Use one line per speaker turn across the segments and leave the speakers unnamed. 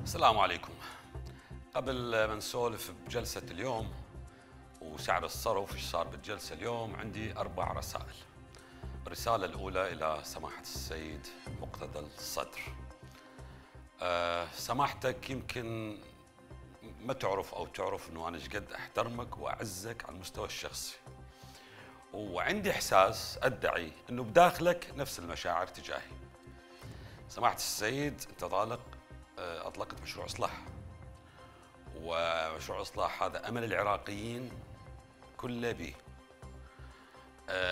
السلام عليكم. قبل ما نسولف بجلسة اليوم وسعر الصرف ايش صار بالجلسة اليوم، عندي 4 رسائل. الرسالة الأولى إلى سماحة السيد مقتدى الصدر. سماحتك يمكن ما تعرف أو تعرف أنه أنا شقد أحترمك وأعزك على المستوى الشخصي، وعندي إحساس أدعي أنه بداخلك نفس المشاعر تجاهي. سماحة السيد أنت أطلقت مشروع إصلاح، ومشروع إصلاح هذا أمل العراقيين كله به.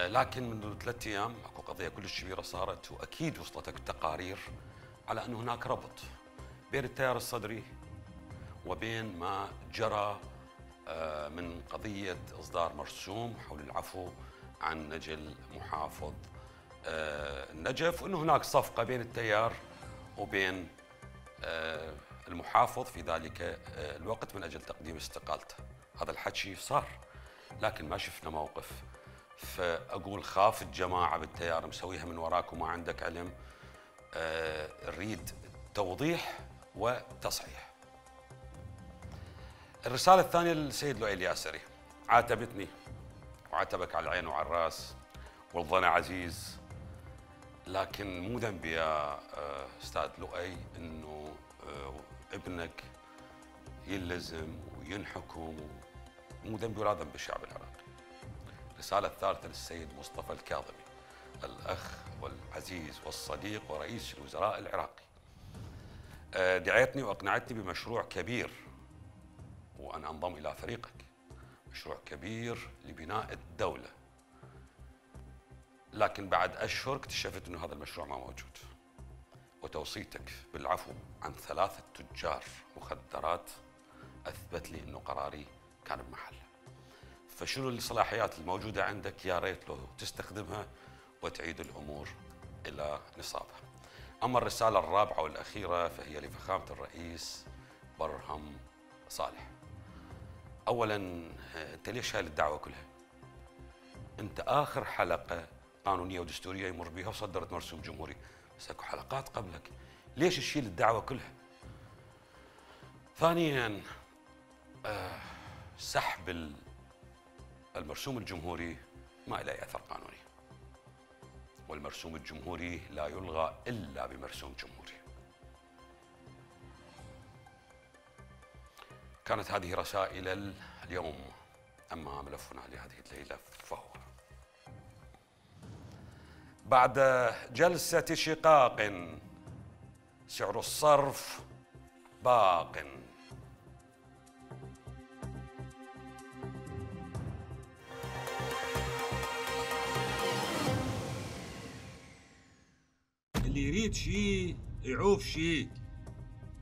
لكن منذ 3 أيام اكو قضية كلش كبيرة صارت، وأكيد وصلتك تقارير على أنه هناك ربط بين التيار الصدري وبين ما جرى من قضية إصدار مرسوم حول العفو عن نجل محافظ النجف، وأنه هناك صفقة بين التيار وبين المحافظ في ذلك الوقت من أجل تقديم استقالته. هذا الحكي صار، لكن ما شفنا موقف. فأقول خاف الجماعة بالتيار مسويها من وراك وما عندك علم. نريد توضيح وتصحيح. الرسالة الثانية للسيد لؤي الياسري. عاتبتني وعاتبك على العين وعلى الراس والظن عزيز، لكن مو ذنبي يا استاذ لؤي انه ابنك يلزم وينحكم، مو ذنبي ولا ذنب الشعب العراقي. الرسالة الثالثة للسيد مصطفى الكاظمي، الأخ والعزيز والصديق ورئيس الوزراء العراقي. دعيتني وأقنعتني بمشروع كبير وأن أنضم إلى فريقك، مشروع كبير لبناء الدولة، لكن بعد أشهر اكتشفت أنه هذا المشروع ما موجود. وتوصيتك بالعفو عن 3 تجار مخدرات أثبت لي أنه قراري كان بمحله. فشنو الصلاحيات الموجودة عندك؟ يا ريت لو تستخدمها وتعيد الأمور إلى نصابها. أما الرسالة الرابعة والأخيرة فهي لفخامة الرئيس برهم صالح. أولاً أنت ليش شايل الدعوة كلها؟ أنت آخر حلقة قانونية ودستورية يمر بها وصدرت مرسوم جمهوري، بس اكو حلقات قبلك، ليش تشيل الدعوة كلها؟ ثانياً سحب المرسوم الجمهوري ما له أثر قانوني، والمرسوم الجمهوري لا يلغى إلا بمرسوم جمهوري. كانت هذه رسائل اليوم. أما ملفنا لهذه الليلة فهو بعد جلسة شقاق سعر الصرف باق.
اللي يريد شيء يعوف شيء،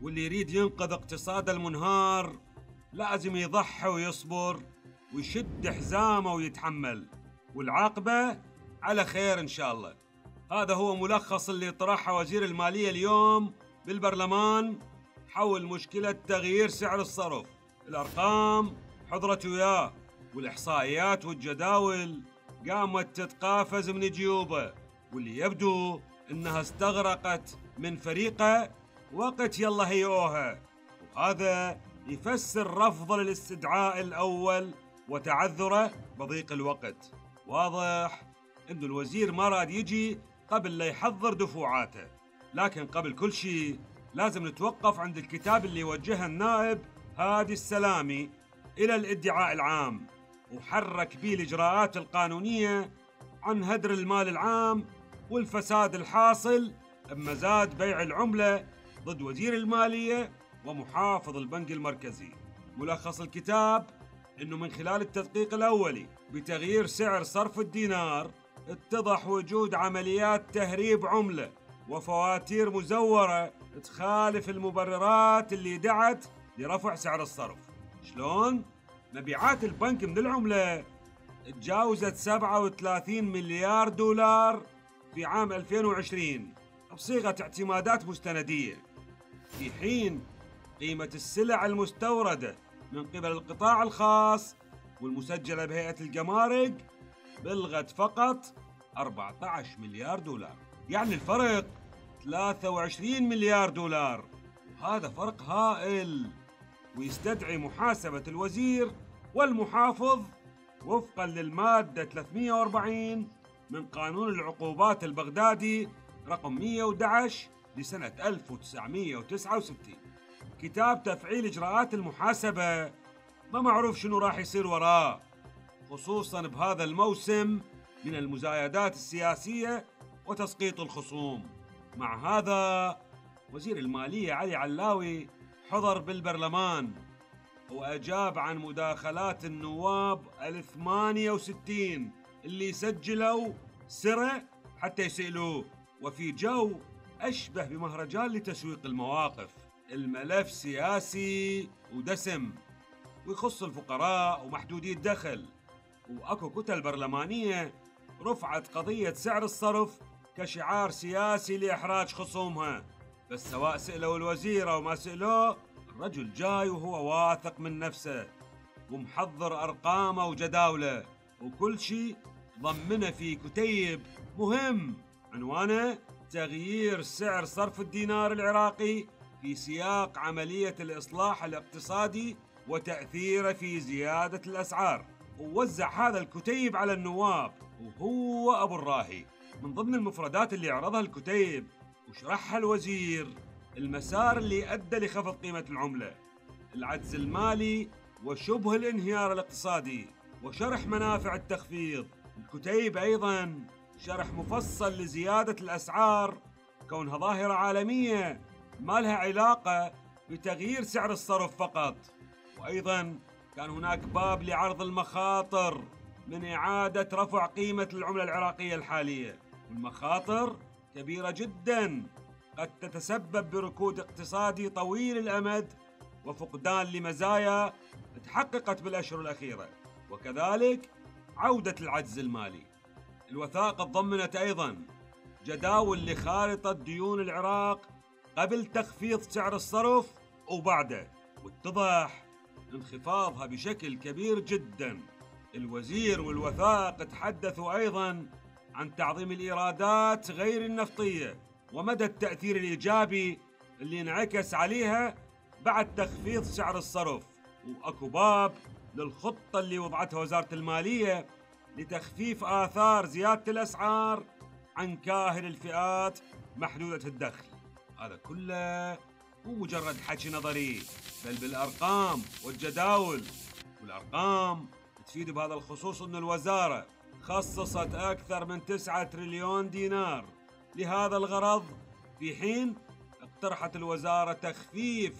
واللي يريد ينقذ اقتصاد المنهار لازم يضحي ويصبر ويشد حزامه ويتحمل، والعاقبة على خير إن شاء الله. هذا هو ملخص اللي طرحه وزير المالية اليوم بالبرلمان حول مشكلة تغيير سعر الصرف. الأرقام حضرت وياه، والإحصائيات والجداول قامت تتقافز من جيوبه، واللي يبدو إنها استغرقت من فريقه وقت يلا هيئوها، وهذا يفسر رفض الاستدعاء الأول وتعذره بضيق الوقت. واضح إنه الوزير ما راد يجي قبل لا يحضر دفوعاته. لكن قبل كل شيء لازم نتوقف عند الكتاب اللي وجهه النائب هادي السلامي إلى الادعاء العام، وحرك به الإجراءات القانونية عن هدر المال العام والفساد الحاصل بمزاد بيع العملة ضد وزير المالية ومحافظ البنك المركزي. ملخص الكتاب إنه من خلال التدقيق الأولي بتغيير سعر صرف الدينار اتضح وجود عمليات تهريب عملة وفواتير مزورة تخالف المبررات اللي دعت لرفع سعر الصرف. شلون؟ مبيعات البنك من العملة تجاوزت 37 مليار دولار في عام 2020 بصيغة اعتمادات مستندية، في حين قيمة السلع المستوردة من قبل القطاع الخاص والمسجلة بهيئة الجمارك بلغت فقط 14 مليار دولار، يعني الفرق 23 مليار دولار. هذا فرق هائل، ويستدعي محاسبة الوزير والمحافظ وفقا للمادة 340 من قانون العقوبات البغدادي رقم 111 لسنة 1969. كتاب تفعيل إجراءات المحاسبة ما معروف شنو راح يصير وراه، خصوصا بهذا الموسم من المزايدات السياسية وتسقيط الخصوم. مع هذا وزير المالية علي علاوي حضر بالبرلمان وأجاب عن مداخلات النواب 68 اللي سجلوا سرة حتى يسألوه، وفي جو أشبه بمهرجان لتسويق المواقف. الملف سياسي ودسم ويخص الفقراء ومحدودي الدخل، وأكو كتل برلمانية رفعت قضية سعر الصرف كشعار سياسي لإحراج خصومها. بس سواء سألوا الوزير أو ما سألوه، الرجل جاي وهو واثق من نفسه ومحضر أرقامه وجداوله، وكل شيء ضمنه في كتيب مهم عنوانه تغيير سعر صرف الدينار العراقي في سياق عملية الإصلاح الاقتصادي وتأثيره في زيادة الأسعار. ووزع هذا الكتيب على النواب وهو أبو الراهي. من ضمن المفردات اللي عرضها الكتيب وشرحها الوزير المسار اللي أدى لخفض قيمة العملة، العجز المالي وشبه الانهيار الاقتصادي، وشرح منافع التخفيض. الكتيب أيضاً شرح مفصل لزيادة الأسعار كونها ظاهرة عالمية ما لها علاقة بتغيير سعر الصرف فقط. وأيضاً كان هناك باب لعرض المخاطر من إعادة رفع قيمة العملة العراقية الحالية، والمخاطر كبيرة جداً قد تتسبب بركود اقتصادي طويل الأمد وفقدان لمزايا تحققت بالأشهر الأخيرة، وكذلك عودة العجز المالي. الوثائق تضمنت أيضاً جداول لخارطة ديون العراق قبل تخفيض سعر الصرف وبعده، واتضح انخفاضها بشكل كبير جداً. الوزير والوثائق تحدثوا أيضاً عن تعظيم الإيرادات غير النفطية ومدى التأثير الإيجابي اللي انعكس عليها بعد تخفيض سعر الصرف، وأكو باب للخطة اللي وضعتها وزارة المالية لتخفيف آثار زيادة الأسعار عن كاهل الفئات محدودة الدخل. هذا كله مو مجرد حكي نظري، بل بالأرقام والجداول. والأرقام تفيد بهذا الخصوص أن الوزارة خصصت أكثر من 9 تريليون دينار لهذا الغرض، في حين اقترحت الوزارة تخفيف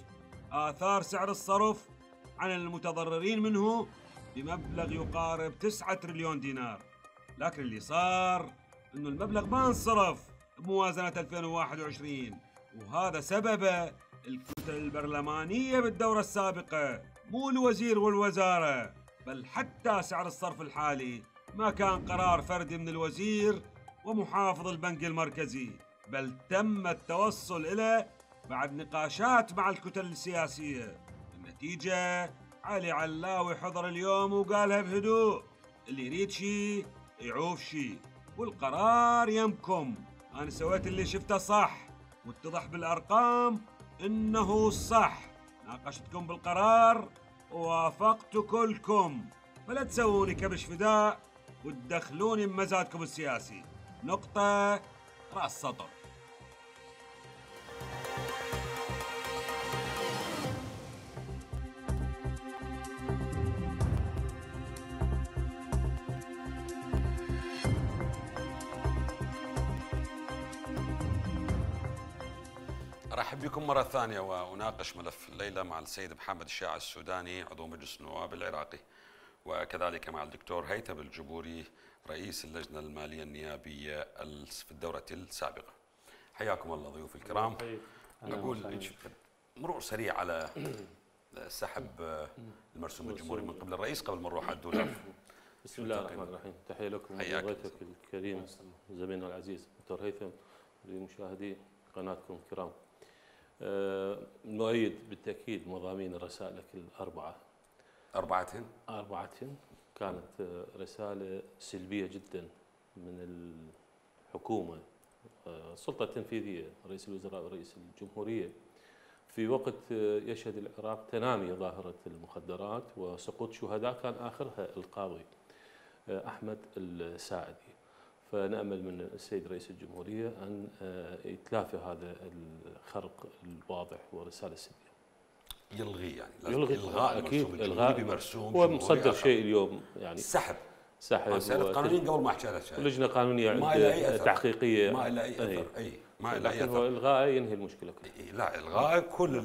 آثار سعر الصرف عن المتضررين منه بمبلغ يقارب 9 تريليون دينار. لكن اللي صار أنه المبلغ ما انصرف بموازنة 2021، وهذا سببه الكتل البرلمانية بالدورة السابقة، مو الوزير والوزارة. بل حتى سعر الصرف الحالي ما كان قرار فردي من الوزير ومحافظ البنك المركزي، بل تم التوصل إليه بعد نقاشات مع الكتل السياسية. النتيجة علي علاوي حضر اليوم وقالها بهدوء: اللي يريد شي يعوف شي، والقرار يمكم. أنا سويت اللي شفته صح، واتضح بالأرقام إنه صح. ناقشتكم بالقرار ووافقت كلكم، فلا تسووني كبش فداء وتدخلوني بمزادكم السياسي. نقطة رأس سطر.
أرحب بكم مرة ثانية وأناقش ملف الليلة مع السيد محمد الشاع السوداني عضو مجلس النواب العراقي، وكذلك مع الدكتور هيثم الجبوري رئيس اللجنة المالية النيابية في الدورة السابقة. حياكم الله ضيوف الكرام. نقول مرور سريع على سحب المرسوم الجمهوري من قبل الرئيس قبل ما نروح على الدولاب.
بسم الله الرحمن الرحيم. تحية لكم ضيفك الكريم زميلنا العزيز دكتور هيثم، لمشاهدي قناتكم الكرام. نؤيد بالتأكيد مضامين رسائلك الأربعة. أربعتهن كانت رسالة سلبية جدا من الحكومة، السلطة التنفيذية، رئيس الوزراء ورئيس الجمهورية، في وقت يشهد العراق تنامي ظاهرة المخدرات وسقوط شهداء كان آخرها القاضي أحمد الساعدي. فنأمل من السيد رئيس الجمهورية أن يتلافى هذا الخرق الواضح ورسالة السلبية.
يلغي يعني
يلغي
الغاء
أكيد
الغاء بمرسوم
هو مصدر شيء اليوم يعني
سحب
مسائل
قانونيين قبل ما احكي على شيء
ولجنة قانونية تحقيقية
ما لها اي اثر ما لها اي
اثر هو الغاء ينهي المشكلة كلها.
لا الغاء كل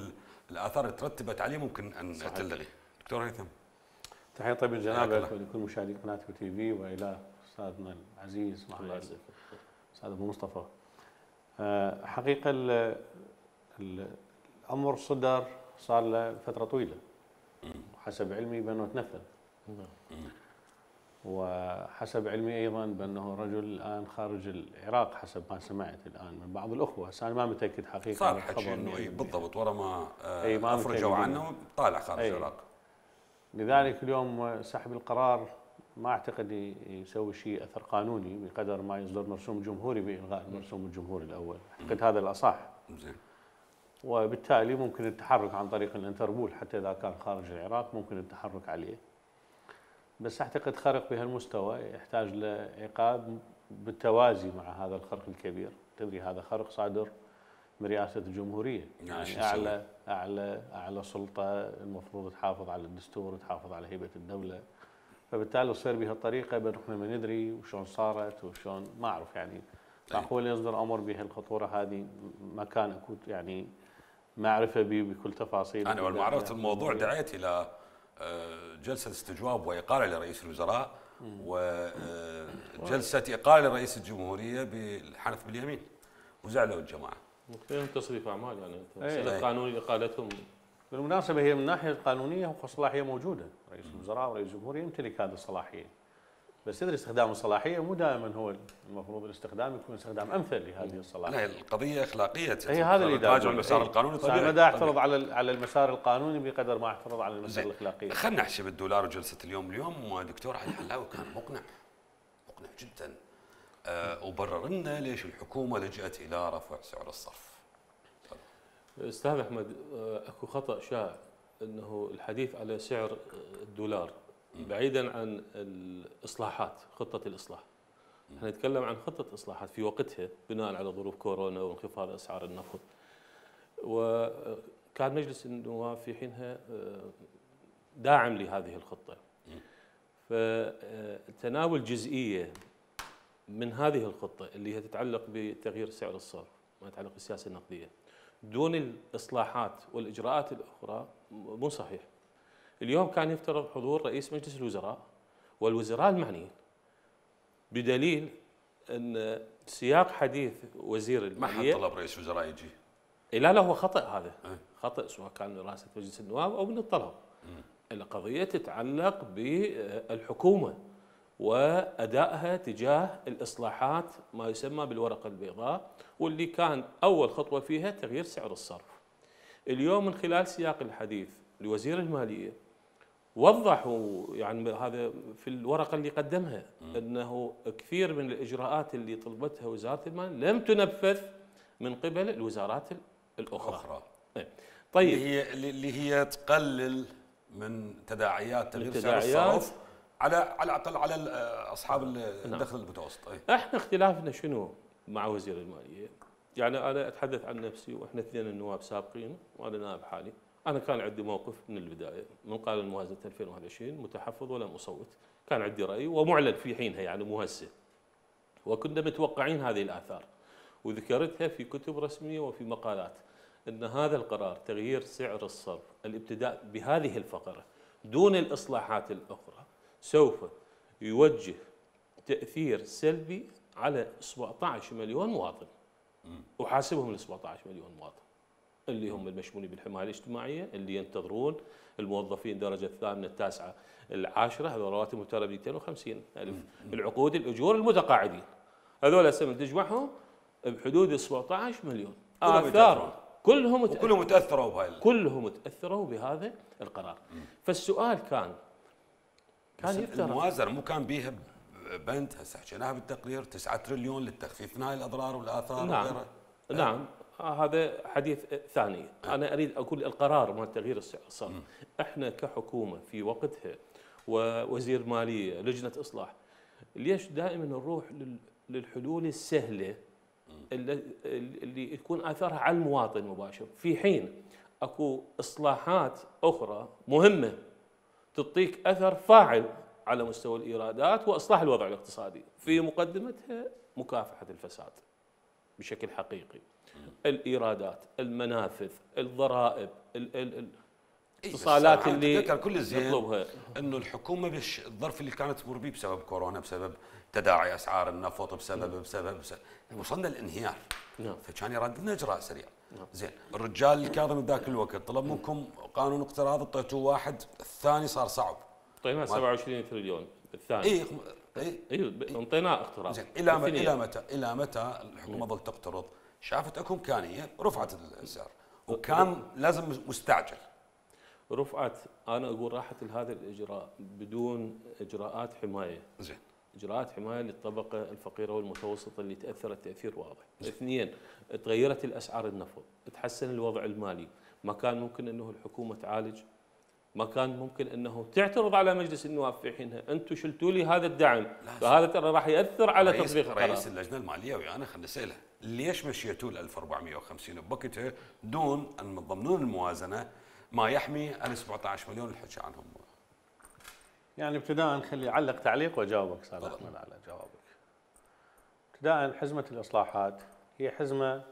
الاثار اللي ترتبت عليه ممكن ان تلغي. دكتور هيثم
تحية طيبة لجنابك ولكل مشاهدي قناة تي في والى استاذنا العزيز معنا استاذ ابو مصطفى. حقيقة الامر صدر صار له فترة طويلة وحسب علمي بانه تنفذ وحسب علمي ايضا بانه رجل الان خارج العراق حسب ما سمعت الان من بعض الاخوه، هسه انا ما متاكد حقيقه
صار حكي انه بالضبط ورا ما افرجوا عنه طالع خارج العراق.
لذلك اليوم سحب القرار ما اعتقد يسوي شيء اثر قانوني بقدر ما يصدر مرسوم جمهوري بالغاء المرسوم الجمهوري الاول، اعتقد هذا الاصح.
زين.
وبالتالي ممكن التحرك عن طريق الانتربول حتى اذا كان خارج العراق ممكن التحرك عليه. بس اعتقد خرق بهالمستوى يحتاج لعقاب بالتوازي مع هذا الخرق الكبير، تدري هذا خرق صادر من رئاسة الجمهورية، يعني اعلى سلطة المفروض تحافظ على الدستور وتحافظ على هيبة الدولة، فبالتالي تصير بهالطريقة احنا ما ندري وشلون صارت وشلون ما اعرف يعني معقول يصدر امر بهالخطورة هذه ما كان اكو يعني معرفة به بكل تفاصيل.
انا لما عرفت الموضوع دعيت الى جلسة استجواب وإقالة لرئيس الوزراء وجلسة إقالة لرئيس الجمهورية بالحنف باليمين وزعلوا الجماعة.
فيهم تصريف أعمال يعني مسألة قانون إقالتهم.
بالمناسبة هي من الناحية القانونية الصلاحية موجودة، رئيس الوزراء ورئيس الجمهورية يمتلك هذه الصلاحية. بس تدري استخدام الصلاحية مو دائما هو المفروض الاستخدام يكون استخدام امثل لهذه الصلاحية.
لا القضية اخلاقية.
هي هذا اللي
راجع المسار القانوني
طبيعي. انا ما اعترض على المسار القانوني بقدر ما اعترض على المسار الاخلاقي.
خلينا نحكي بالدولار وجلسة اليوم دكتور علي الحلاوي كان مقنع جدا وبرر لنا ليش الحكومة لجأت الى رفع سعر الصرف.
استاذ احمد اكو خطأ شائع انه الحديث على سعر الدولار بعيدا عن الاصلاحات، خطه الاصلاح. احنا نتكلم عن خطه اصلاحات في وقتها بناء على ظروف كورونا وانخفاض اسعار النفط. وكان مجلس النواب في حينها داعم لهذه الخطه. فتناول جزئيه من هذه الخطه اللي هي تتعلق بتغيير سعر الصرف، ما يتعلق بالسياسه النقديه، دون الاصلاحات والاجراءات الاخرى مو صحيح. اليوم كان يفترض حضور رئيس مجلس الوزراء والوزراء المعنيين، بدليل ان سياق حديث وزير الماليه
ما حد طلب رئيس وزراء يجي.
لا هو خطأ، هذا خطأ سواء كان رئاسة مجلس النواب او من الطلب. القضيه تتعلق بالحكومه وادائها تجاه الاصلاحات ما يسمى بالورقه البيضاء، واللي كان اول خطوه فيها تغيير سعر الصرف. اليوم من خلال سياق الحديث لوزير الماليه وضحوا يعني هذا في الورقه اللي قدمها انه كثير من الاجراءات اللي طلبتها وزاره المال لم تنفذ من قبل الوزارات الاخرى.
طيب اللي هي تقلل من تداعيات تغيير سعر الصرف على الاقل على اصحاب الدخل المتوسط.
احنا اختلافنا شنو مع وزير الماليه؟ يعني انا اتحدث عن نفسي واحنا اثنين النواب سابقين وانا نائب حالي. انا كان عندي موقف من البدايه من قانون موازنه 2021 متحفظ ولم اصوت، كان عندي راي ومعلن في حينها يعني مو هسه. وكنا متوقعين هذه الاثار وذكرتها في كتب رسميه وفي مقالات ان هذا القرار تغيير سعر الصرف الابتداء بهذه الفقره دون الاصلاحات الاخرى سوف يوجه تاثير سلبي على 17 مليون مواطن. وحاسبهم ال 17 مليون مواطن اللي هم المشمولين بالحمايه الاجتماعيه، اللي ينتظرون الموظفين الدرجه الثامنه التاسعه العاشره، هذول رواتبهم ترى 250,000. العقود الاجور المتقاعدين هذول هسه من تجمعهم بحدود 17 مليون. اثارهم كلهم
تاثروا بهاي،
كلهم تاثروا بهذا القرار. فالسؤال كان
يفترض الموازنه مو كان بيها بند هسه حكيناها بالتقرير 9 تريليون للتخفيف من هاي الاضرار والاثار
نعم
وغيرها.
نعم هذا حديث ثاني. انا اريد اقول القرار مال تغيير السعر الصرف، احنا كحكومه في وقتها ووزير ماليه لجنه اصلاح، ليش دائما نروح للحلول السهله اللي تكون اثارها على المواطن مباشر، في حين اكو اصلاحات اخرى مهمه تعطيك اثر فاعل على مستوى الايرادات واصلاح الوضع الاقتصادي، في مقدمتها مكافحه الفساد بشكل حقيقي. الايرادات، المنافذ، الضرائب، الاتصالات اللي
كل زين
نطلبها،
انه الحكومه الظرف اللي كانت تمر به بسبب كورونا، بسبب تداعي اسعار النفط، بسبب وصلنا للانهيار.
نعم.
فكان يراد اجراء سريع. زين، الرجال الكاظم بذاك الوقت طلب منكم قانون اقتراض، اعطيتوه واحد، الثاني صار صعب.
اعطيناه 27 تريليون الثاني.
اي
انطيناه اقتراض.
زين، الى متى الحكومه ظلت تقترض؟ شافت اكو امكانيه، رفعت السعر، وكان لازم مستعجل.
رفعت، انا اقول راحت هذا الاجراء بدون اجراءات حمايه.
زين.
اجراءات حمايه للطبقه الفقيره والمتوسطه اللي تاثرت تاثير واضح. اثنين، تغيرت الاسعار النفط، تحسن الوضع المالي، ما كان ممكن انه الحكومه تعالج، ما كان ممكن انه تعترض على مجلس النواب في حينها، انتم شلتوا لي هذا الدعم، فهذا ترى راح ياثر على تطبيق القرار.
رئيس اللجنه الماليه ويانا خلينا نساله، ليش مشيتوا ال 1450 بوقتها دون ان من ضمن الموازنه ما يحمي ال 17 مليون اللي حكى عنهم؟
يعني ابتداء خلي اعلق تعليق واجاوبك استاذ احمد على جوابك. ابتداء حزمه الاصلاحات هي حزمه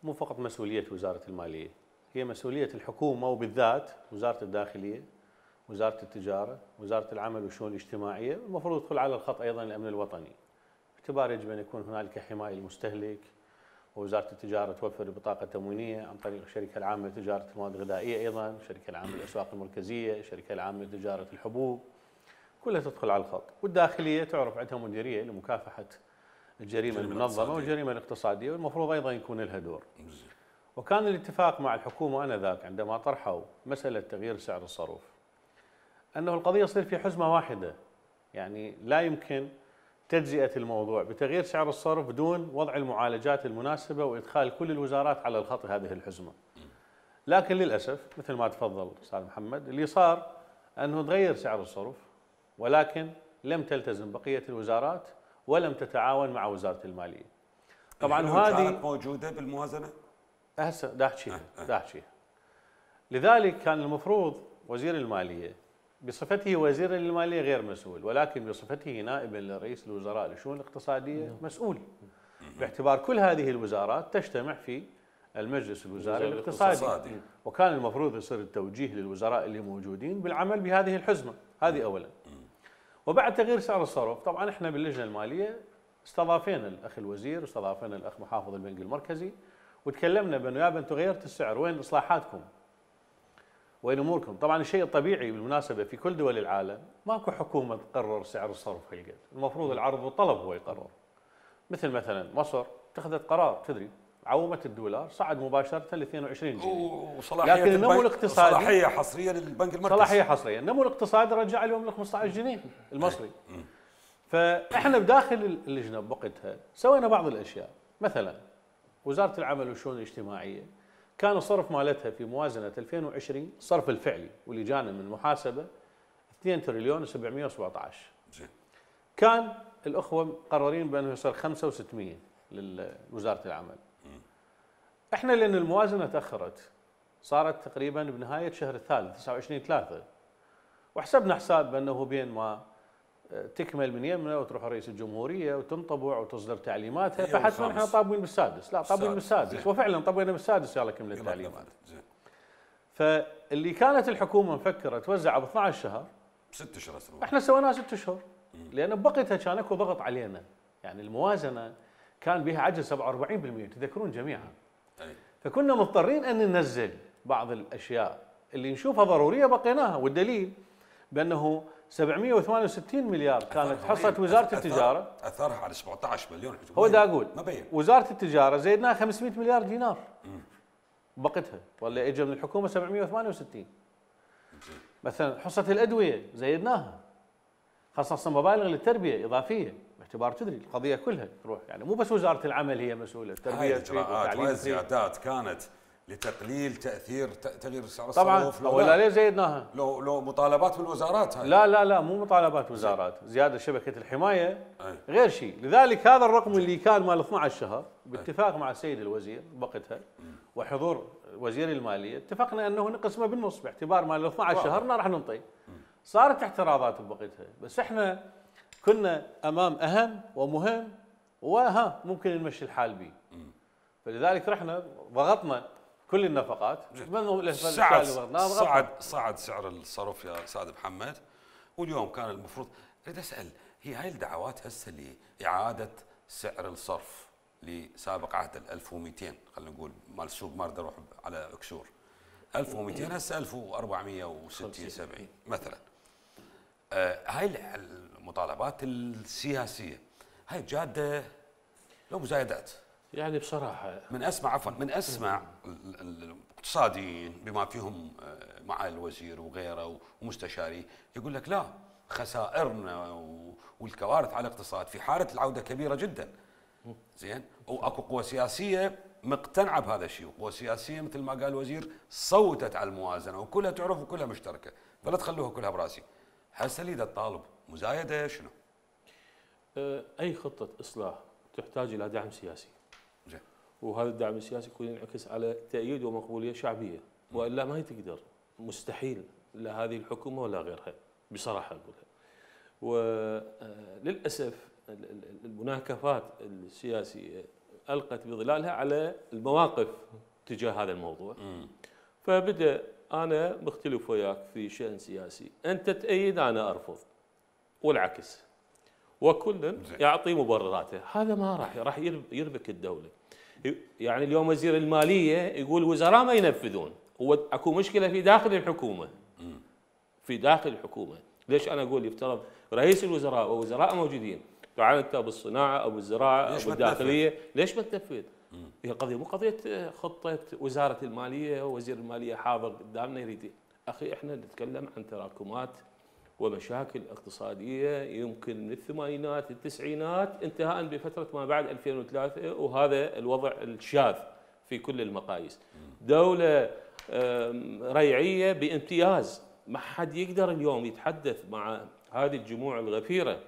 مو فقط مسؤوليه وزاره الماليه، هي مسؤوليه الحكومه وبالذات وزاره الداخليه، وزاره التجاره، وزاره العمل والشؤون الاجتماعيه، والمفروض يدخل على الخط ايضا الامن الوطني. باعتبار يجب ان يكون هنالك حمايه للمستهلك، ووزاره التجاره توفر بطاقه تموينيه عن طريق الشركه العامه لتجاره المواد الغذائيه، ايضا الشركه العامه للاسواق المركزيه، الشركه العامه لتجاره الحبوب، كلها تدخل على الخط. والداخليه تعرف عندها مديريه لمكافحه الجريمه المنظمه والجريمه الاقتصاديه، والمفروض ايضا يكون لها دور. وكان الاتفاق مع الحكومه انذاك عندما طرحوا مساله تغيير سعر الصرف انه القضيه تصير في حزمه واحده، يعني لا يمكن تجزئه الموضوع بتغيير سعر الصرف بدون وضع المعالجات المناسبه وادخال كل الوزارات على الخط هذه الحزمه. لكن للاسف مثل ما تفضل استاذ محمد، اللي صار انه تغير سعر الصرف ولكن لم تلتزم بقيه الوزارات ولم تتعاون مع وزاره الماليه. طبعا هذه
كانت موجوده بالموازنه
هسه داحشيها. لذلك كان المفروض وزير الماليه بصفته وزيرا للماليه غير مسؤول، ولكن بصفته نائبا لرئيس الوزراء للشؤون الاقتصاديه مسؤول، باعتبار كل هذه الوزارات تجتمع في المجلس الوزاري الاقتصادي، وكان المفروض يصير التوجيه للوزراء اللي موجودين بالعمل بهذه الحزمه، هذه اولا. وبعد تغيير سعر الصرف طبعا احنا باللجنه الماليه استضافينا الاخ الوزير واستضافينا الاخ محافظ البنك المركزي وتكلمنا بانه يابا انتم غيرتوا السعر، وين اصلاحاتكم؟ وين اموركم؟ طبعا الشيء الطبيعي بالمناسبه في كل دول العالم ماكو حكومه تقرر سعر الصرف هالقد، المفروض العرض والطلب هو يقرر. مثلا مصر اتخذت قرار، تدري عومت الدولار صعد مباشره ل 22 جنيه، لكن النمو الاقتصادي
صلاحيه حصريه للبنك المركزي،
صلاحيه حصريه، النمو الاقتصادي رجع اليوم ل 15 جنيه المصري. فاحنا بداخل اللجنه بوقتها سوينا بعض الاشياء، مثلا وزاره العمل والشؤون الاجتماعيه كان الصرف مالتها في موازنه 2020 الصرف الفعلي واللي جانا من محاسبه 2 تريليون و717. كان الاخوه مقررين بانه يصير 5 و600 لوزاره العمل. احنا لان الموازنه تاخرت صارت تقريبا بنهايه شهر الثالث 29/3، وحسبنا حساب بانه بين ما تكمل من يمنا وتروح رئيس الجمهوريه وتنطبع وتصدر تعليماتها فحتما احنا طابين بالسادس، لا طابين بالسادس، وفعلا طبينا بالسادس يلا كملت التعليمات. فاللي كانت الحكومه مفكره توزع ب 12 شهر
6 اشهر
احنا سويناها 6 اشهر، لان بوقتها كان اكو ضغط علينا، يعني الموازنه كان بها عجز 47% تذكرون جميعا. فكنا مضطرين ان ننزل بعض الاشياء اللي نشوفها ضروريه بقيناها، والدليل بانه 768 مليار كانت حصه وزاره التجاره،
اثرها على 17 مليون.
هو دا اقول وزاره التجاره زيدناها 500 مليار دينار بوقتها، ولا اجى من الحكومه 768. مثلا حصه الادويه زيدناها، خصص مبالغ للتربيه اضافيه باعتبار تدري القضيه كلها تروح يعني مو بس وزاره العمل هي مسؤوله
هاي
التربيه
الاجراءات وهاي الزيادات كانت لتقليل تغيير سعر
طبعا
الصرف
ولا ليه زيدناها
لو مطالبات من الوزارات هاي
لا مو مطالبات وزارات زياده شبكه الحمايه غير شيء لذلك هذا الرقم اللي كان مال 12 شهر باتفاق مع السيد الوزير بوقتها وحضور وزير الماليه اتفقنا انه نقسمه بالنص باعتبار مال 12 شهر راح ننطي صارت اعتراضات بوقتها بس احنا كنا امام اهم ومهم ممكن نمشي الحال به فلذلك رحنا ضغطنا كل النفقات
صعد سعر الصرف يا استاذ محمد واليوم كان المفروض اريد اسال هي هاي الدعوات هسه لاعاده سعر الصرف لسابق عهد 1200 خلينا نقول مال السوق ما اريد اروح على كسور 1200 هسه 1460 70 مثلا هاي المطالبات السياسيه هاي جاده لو مزايدات
يعني بصراحه
من اسمع الاقتصاديين بما فيهم معالي الوزير وغيره ومستشاري يقول لك لا خسائرنا والكوارث على الاقتصاد في حاله العوده كبيره جدا زين واكو قوى سياسيه مقتنعه بهذا الشيء وقوى سياسيه مثل ما قال الوزير صوتت على الموازنه وكلها تعرف وكلها مشتركه فلا تخلوها كلها براسي هسه اللي الطالب مزايده شنو؟
اي خطه اصلاح تحتاج الى دعم سياسي
زين
وهذا الدعم السياسي يكون ينعكس على تأييد ومقبولية شعبية وإلا ما تقدر مستحيل لا هذه الحكومة ولا غيرها بصراحة أقولها وللأسف المناكفات السياسية ألقت بظلالها على المواقف تجاه هذا الموضوع فبدأ أنا مختلف وياك في شأن سياسي أنت تأيد أنا أرفض والعكس وكل يعطي مبرراته هذا ما راح يربك الدولة يعني اليوم وزير الماليه يقول الوزراء ما ينفذون هو اكو مشكله في داخل الحكومه ليش انا اقول يفترض رئيس الوزراء ووزراء موجودين تعال انت بالصناعه او بالزراعه او بالداخليه ليش ما تنفذ؟ هي القضيه مو قضيه خطه وزاره الماليه ووزير الماليه حاضر قدامنا يريد اخي احنا نتكلم عن تراكمات ومشاكل اقتصاديه يمكن من الثمانينات التسعينات انتهاء بفتره ما بعد 2003 وهذا الوضع الشاذ في كل المقاييس. دوله ريعيه بامتياز ما حد يقدر اليوم يتحدث مع هذه الجموع الغفيره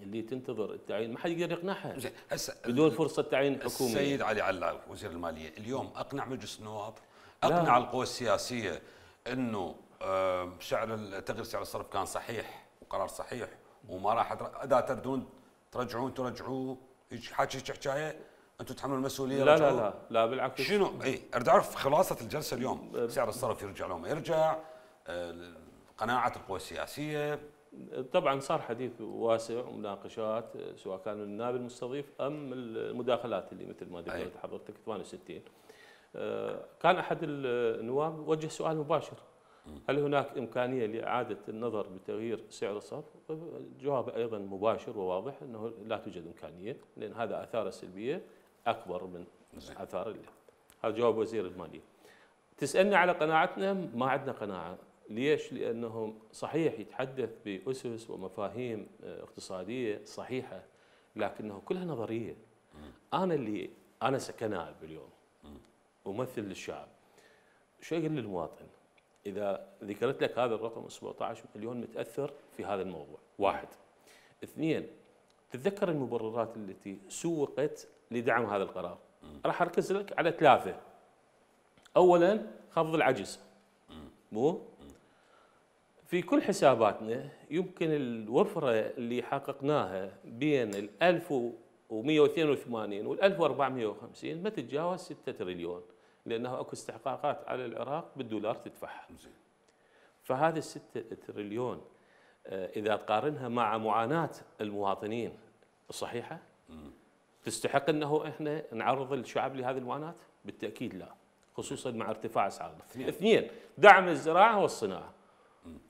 اللي تنتظر التعيين ما حد يقدر يقنعها بدون فرصه تعيين حكومي.
السيد علي علاوي وزير الماليه اليوم اقنع مجلس النواب اقنع القوى السياسيه انه تغيير سعر الصرف كان صحيح وقرار صحيح وما راح اذا تردون ترجعوه حكايه انتم تحملوا المسؤوليه
لا بالعكس
شنو اريد اعرف خلاصه الجلسه اليوم سعر الصرف يرجع لو ما يرجع قناعه القوى السياسيه
طبعا صار حديث واسع ومناقشات سواء كان النائب المستضيف ام المداخلات اللي مثل ما ذكرت حضرتك 68 كان احد النواب وجه سؤال مباشر هل هناك إمكانية لإعادة النظر بتغيير سعر الصرف؟ الجواب أيضا مباشر وواضح أنه لا توجد إمكانية لأن هذا آثاره السلبية أكبر من آثار هذا جواب وزير المالية. تسألني على قناعتنا ما عندنا قناعة ليش؟ لأنه صحيح يتحدث بأسس ومفاهيم اقتصادية صحيحة لكنه كلها نظرية. أنا كنائب اليوم ممثل للشعب شو يقول للمواطن؟ إذا ذكرت لك هذا الرقم 17 مليون متأثر في هذا الموضوع واحد اثنين تتذكر المبررات التي سوقت لدعم هذا القرار راح أركز لك على ثلاثة أولا خفض العجز مو في كل حساباتنا يمكن الوفرة اللي حققناها بين 1182 وال 1450 ما تتجاوز 6 تريليون لأنه أكو استحقاقات على العراق بالدولار تدفعها فهذه 6 تريليون إذا تقارنها مع معاناة المواطنين الصحيحة تستحق أنه إحنا نعرض الشعب لهذه المعاناة؟ بالتأكيد لا خصوصا مع ارتفاع أسعار اثنين دعم الزراعة والصناعة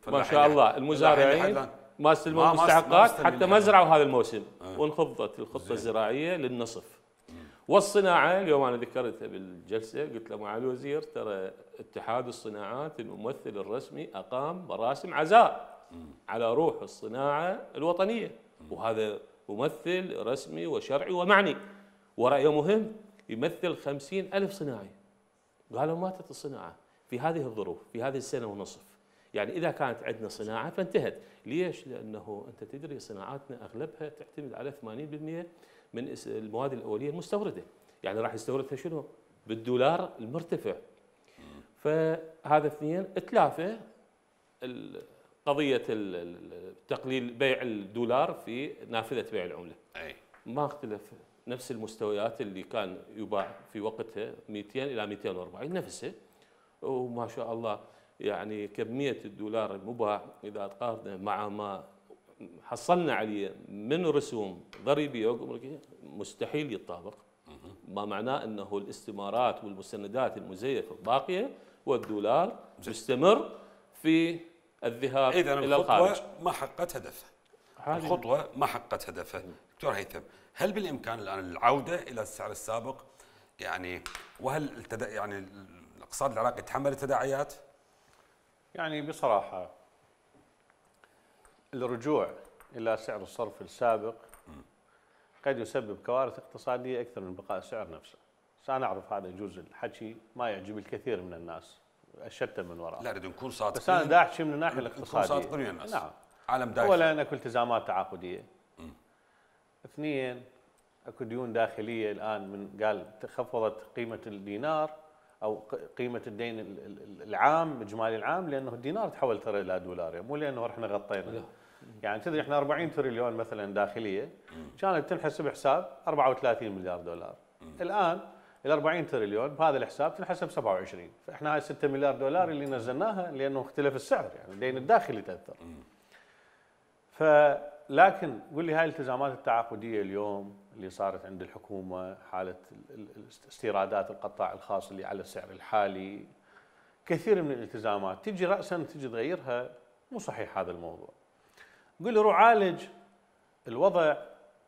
ما شاء الله المزارعين ما استلموا المستحقات حتى ما زرعوا هذا الموسم وانخفضت الخطة الزراعية للنصف والصناعة اليوم أنا ذكرتها بالجلسة قلت له معالي الوزير ترى اتحاد الصناعات الممثل الرسمي أقام مراسم عزاء على روح الصناعة الوطنية، وهذا ممثل رسمي وشرعي ومعني، ورأيه مهم، يمثل 50,000 صناعي. قالوا ماتت الصناعة في هذه الظروف، في هذه السنة ونصف. يعني إذا كانت عندنا صناعة فانتهت. ليش؟ لأنه أنت تدري صناعاتنا أغلبها تعتمد على 80% من المواد الأولية المستوردة. يعني راح يستوردها شنو؟ بالدولار المرتفع. فهذا اثنين. ثلاثة، قضية تقليل بيع الدولار في نافذة بيع العملة. ما اختلف، نفس المستويات اللي كان يباع في وقتها 200 إلى 240 نفسها. وما شاء الله يعني كمية الدولار المباع إذا تقارنه مع ما حصلنا عليه من رسوم ضريبية وجمركية مستحيل يتطابق. ما معناه أنه الاستمارات والمستندات المزيفة باقية والدولار مستمر في الذهاب إلى الخارج.
الخطوة ما حققت هدفها. الخطوة ما حققت هدفها. دكتور هيثم، هل بالإمكان الآن العودة إلى السعر السابق؟ يعني وهل يعني الاقتصاد العراقي يتحمل التداعيات؟
يعني بصراحة الرجوع إلى سعر الصرف السابق قد يسبب كوارث اقتصادية أكثر من بقاء السعر نفسه. أنا أعرف هذا يجوز الحكي ما يعجب الكثير من الناس الشتى من وراء.
لا، نريد نكون صادقين.
بس أنا دا أحكي من الناحية الاقتصادية.
نكون صادقين ويا الناس.
نعم.
عالم داخلي.
أولاً أكو التزامات تعاقدية. اثنين، أكو ديون داخلية الآن من قال تخفضت قيمة الدينار أو قيمة الدين العام إجمالي العام، لأنه الدينار تحول ترى إلى دولار، يعني مو لأنه إحنا غطينا. يعني تدري إحنا 40 تريليون مثلاً داخلية كانت تنحسب حساب 34 مليار دولار. الآن ال 40 تريليون بهذا الحساب تنحسب 27. فإحنا هاي 6 مليار دولار اللي نزلناها لأنه اختلف السعر، يعني الدين الداخلي تأثر. لكن قل لي هاي الالتزامات التعاقدية اليوم اللي صارت عند الحكومة، حالة استيرادات القطاع الخاص اللي على السعر الحالي، كثير من الالتزامات تجي رأسا تجي تغيرها. مو صحيح هذا الموضوع. قل لي روح عالج الوضع،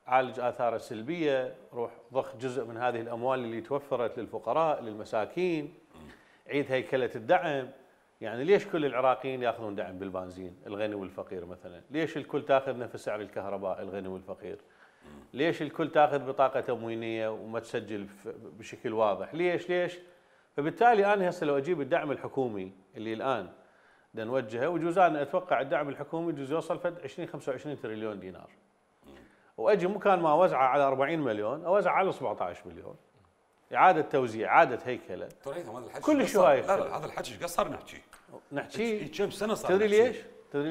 عالج آثاره السلبية، روح ضخ جزء من هذه الأموال اللي توفرت للفقراء للمساكين، عيد هيكلة الدعم. يعني ليش كل العراقيين ياخذون دعم بالبنزين الغني والفقير مثلا؟ ليش الكل تاخذ نفس سعر الكهرباء الغني والفقير؟ ليش الكل تاخذ بطاقة تموينية وما تسجل بشكل واضح؟ ليش؟ فبالتالي أنا هسه لو أجيب الدعم الحكومي اللي الآن بدنا نوجهه، وجوز أنا أتوقع الدعم الحكومي يجوز يوصل فد 20-25 تريليون دينار، وأجي مكان ما أوزعه على 40 مليون أوزعه على 17 مليون، إعادة توزيع، إعادة هيكلة. كل شوية.
لا هذا الحكي ايش قصر نحكي كم سنة صار.
تدري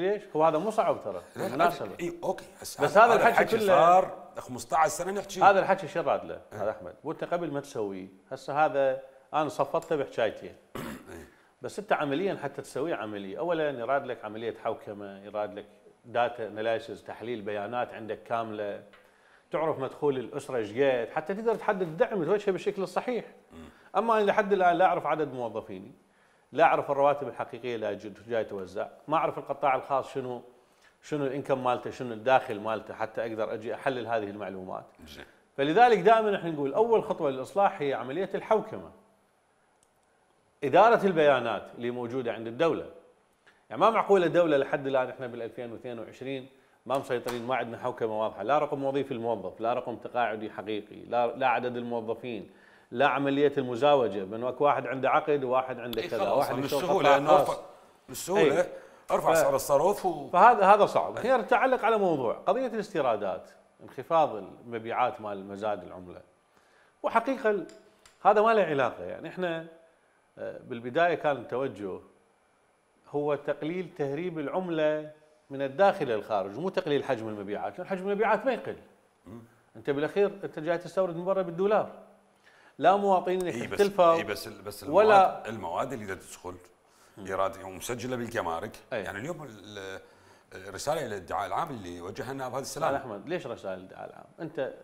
ليش؟ هو هذا مو صعب ترى.
مناسبة. اوكي
بس هذا الحكي كله
صار 15 سنة نحكي.
هذا الحكي شو راد له؟ هذا احمد، وانت قبل ما تسويه، هسه هذا انا صفطته بحكايتين. بس انت عمليا حتى تسويه عملية، اولا يراد لك عملية حوكمة، يراد لك داتا اناليسيس، تحليل بيانات عندك كاملة، تعرف مدخول الاسرة ايش قد، حتى تقدر تحدد الدعم توجهه بالشكل الصحيح. اما انا لحد الان لا اعرف عدد موظفيني، لا اعرف الرواتب الحقيقيه اللي جاي توزع، ما اعرف القطاع الخاص شنو الانكم مالته، شنو الداخل مالته، حتى اقدر اجي احلل هذه المعلومات. فلذلك دائما احنا نقول اول خطوه للاصلاح هي عمليه الحوكمه، اداره البيانات اللي موجوده عند الدوله. يعني ما معقوله دوله لحد الان احنا بال 2022 ما مسيطرين، ما عندنا حوكمه واضحه، لا رقم وظيفي الموظف، لا رقم تقاعدي حقيقي، لا عدد الموظفين، لا عمليه المزاوجه بين واحد عنده عقد وواحد عنده كذا، واحد
بالسهوله ارفع سعر الصرف
فهذا صعب. هي تتعلق على موضوع قضيه الاستيرادات، انخفاض المبيعات مال مزاد العمله، وحقيقه هذا ما له علاقه. يعني احنا بالبدايه كان التوجه هو تقليل تهريب العمله من الداخل الى الخارج، مو تقليل حجم المبيعات، لان حجم المبيعات ما يقل. انت بالاخير انت جاي تستورد من برا بالدولار، لا مواطنينك اختلفوا.
بس ولا المواد اللي تدخل ايراد مسجله بالجمارك. يعني اليوم الرساله الى الادعاء العام اللي وجهنا بهذا السلام.
لا احمد، ليش رسائل الادعاء العام؟ انت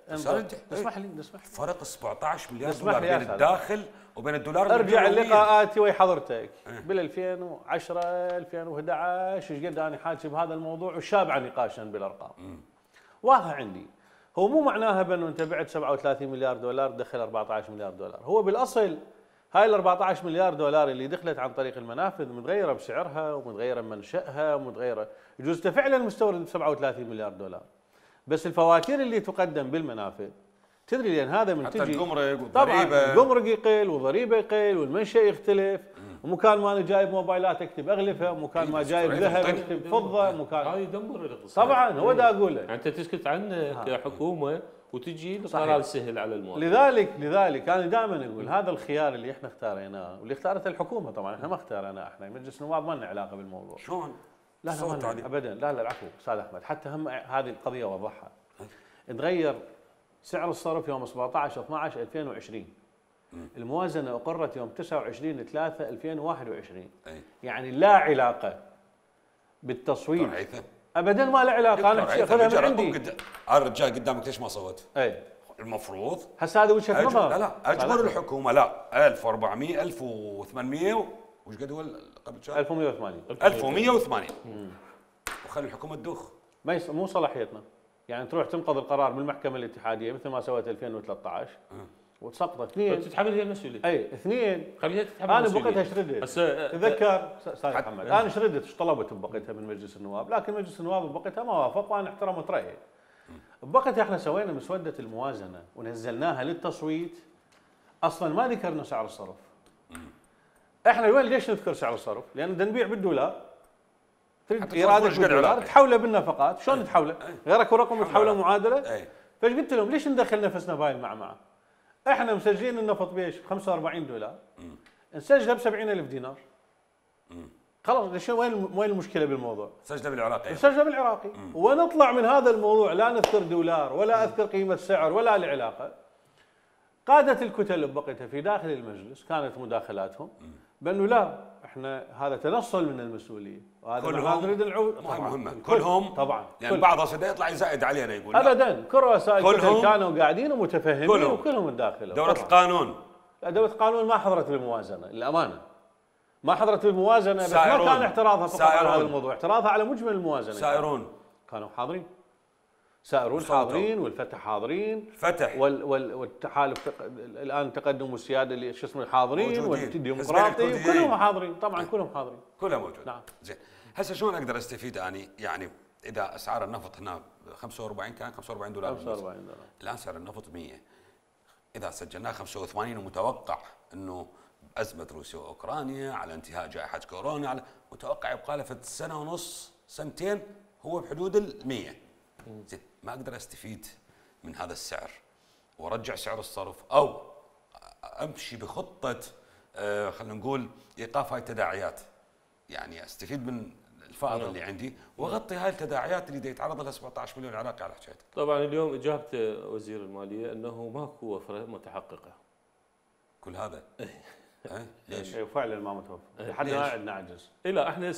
اسمح لي
فرق 17 مليار دولار بين الداخل وبين الدولار.
ارجع لقاءاتي ويا حضرتك بال 2010 2011 ايش قد انا حاكي بهذا الموضوع وشابع نقاشا بالارقام. واضحه عندي. هو مو معناها بانه انت بعت 37 مليار دولار دخل 14 مليار دولار، هو بالاصل هاي ال 14 مليار دولار اللي دخلت عن طريق المنافذ متغيره بسعرها ومتغيره بمنشأها ومتغيره، يجوز فعلا مستورد ب 37 مليار دولار. بس الفواتير اللي تقدم بالمنافذ تدري لان هذا من
حتى
تجي
الجمرك
طبعا
والضريبه،
الجمرك يقل وضريبه يقل والمنشأ يختلف، ومكان ما انا جايب موبايلات اكتب اغلفه، ومكان ما جايب ذهب اكتب فضه، مكان
هاي يدمر الاقتصاد.
طبعا هو دا اقول لك.
يعني انت تسكت عنه كحكومه وتجي القرار سهل على المواطن.
لذلك انا دائما اقول هذا الخيار اللي احنا اختاريناه واللي اختارته الحكومه، طبعا احنا ما اختارناه، احنا مجلس النواب ما لنا علاقه بالموضوع.
شلون؟
لا لا ما لنا ابدا، لا لا العفو استاذ احمد، حتى هم هذه القضيه وضحها. تغير سعر الصرف يوم 17 12 2020. الموازنه اقرت يوم 29 3 2021. يعني لا علاقه بالتصويت ابدا، ما له علاقه. انا اخذها من عندي.
الرجال قدامك ليش ما صوت؟
اي
المفروض
هسه هذا وجهه نظر.
لا اجبر الحكومه لا 1400 1800 وش قد هو قبل شهر؟
1180
1180 وخلي الحكومه تدوخ.
مو صلاحيتنا، يعني تروح تنقض القرار بالمحكمه الاتحاديه مثل ما سوت 2013 وتسقطه. اثنين
تتحمل هي المسؤوليه.
اي اثنين
خليها تتحمل
انا
المسؤوليه.
بوقتها شردت. تذكر استاذ محمد انا شردت ايش طلبت بوقتها من مجلس النواب، لكن مجلس النواب بوقتها ما وافق وانا احترمت رايه. بوقتها احنا سوينا مسوده الموازنه ونزلناها للتصويت، اصلا ما ذكرنا سعر الصرف. احنا وين ليش نذكر سعر الصرف؟ لان بدنا نبيع بالدولار، تريد ايرادك بالدولار تحوله بالنفقات، شلون تحوله؟ غيرك ورقم تحوله معادله؟ فايش قلت لهم ليش ندخل نفسنا بهاي المعمعه؟ احنا مسجلين النفط بيش ب 45 دولار نسجلها ب 70,000 دينار. خلاص ليش وين المشكله بالموضوع؟
سجله بالعراقي.
سجله بالعراقي ونطلع من هذا الموضوع لا نذكر دولار ولا اذكر قيمه سعر ولا له علاقه. قاده الكتل بوقتها في داخل المجلس كانت مداخلاتهم بانه لا احنا هذا تنصل من المسؤوليه وهذا ما نريد نعود.
مهمه كلهم طبعا، يعني بعض الصدى يطلع يزايد علينا يقول
ابدا كل رؤساء الكتل كانوا قاعدين ومتفهمين وكلهم مداخله.
دوله القانون
لا دوله القانون ما حضرت بالموازنه للامانه، ما حضرت بالموازنه، بس ما كان اعتراضها فقط على هذا الموضوع، اعتراضها على مجمل الموازنه.
سائرون
كانوا حاضرين، سائرون حاضرين والفتح حاضرين،
فتح
والتحالف الان تقدم والسياده اللي شو اسمه حاضرين والديمقراطي كلهم حاضرين طبعا كلهم حاضرين
كلهم موجود.
نعم
زين هسه شلون اقدر استفيد اني يعني اذا اسعار النفط هنا 45 كان 45 دولار
45 دولار
الان سعر النفط 100 اذا سجلناه 85 ومتوقع انه ازمه روسيا واوكرانيا على انتهاء جائحه كورونا على متوقع يبقى له سنه ونص سنتين هو بحدود ال 100. زين ما اقدر استفيد من هذا السعر وارجع سعر الصرف او امشي بخطه خلينا نقول ايقاف هاي التداعيات، يعني استفيد من الفائض اللي عندي واغطي هاي التداعيات اللي يتعرض لها 17 مليون عراقي على حكايتك.
طبعا اليوم اجابه وزير الماليه انه ماكو وفره متحققه.
كل هذا ليش؟
فعلا ما متوفر لحد الان عندنا عجز.
لا احنا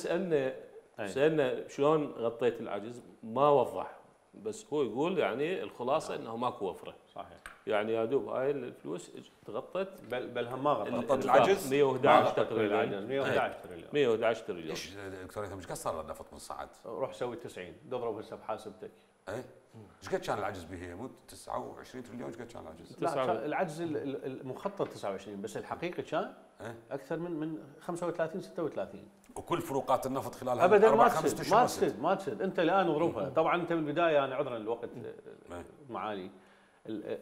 سالنا شلون غطيت العجز ما وضح، بس هو يقول يعني الخلاصه انه ماكو وفره.
صحيح.
يعني يا دوب هاي الفلوس تغطت
بل هم ما
غطت العجز
111 تقريبا
111 تريليون.
ليش دكتور ايش قد صار النفط من صعد؟
روح سوي 90 اضرب هسه بحاسبتك.
ايش قد كان العجز به؟ مو 29 تريليون ايش قد كان العجز؟
لا العجز المخطط 29 بس الحقيقي كان اكثر من 35 36.
وكل فروقات النفط خلال
ابدا ما تسد انت الان اضربها. طبعا انت بالبدايه انا عذرا الوقت معالي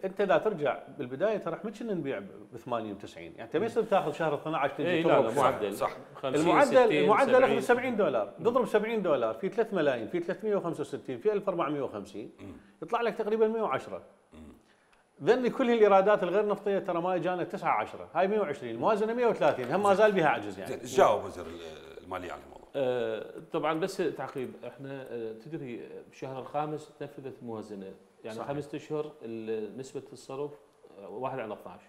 انت اذا ترجع بالبدايه ترى احنا كنا نبيع ب 80 و 90 يعني انت ما يصير تاخذ شهر 12 تجي
لا معدل
صح.
المعدل اخذ 70 دولار تضرب 70 دولار في 3 ملايين في 365 في 1450 يطلع لك تقريبا 110. ذني كل الايرادات الغير نفطيه ترى ما اجانا 9 10 هاي 120 الموازنه 130 هم ما زال بها عجز يعني.
جاوب وزير الماليه على الموضوع.
طبعا بس تعقيب احنا تدري بالشهر الخامس تنفذت الموازنه يعني 5 اشهر نسبه الصرف 1 على 12.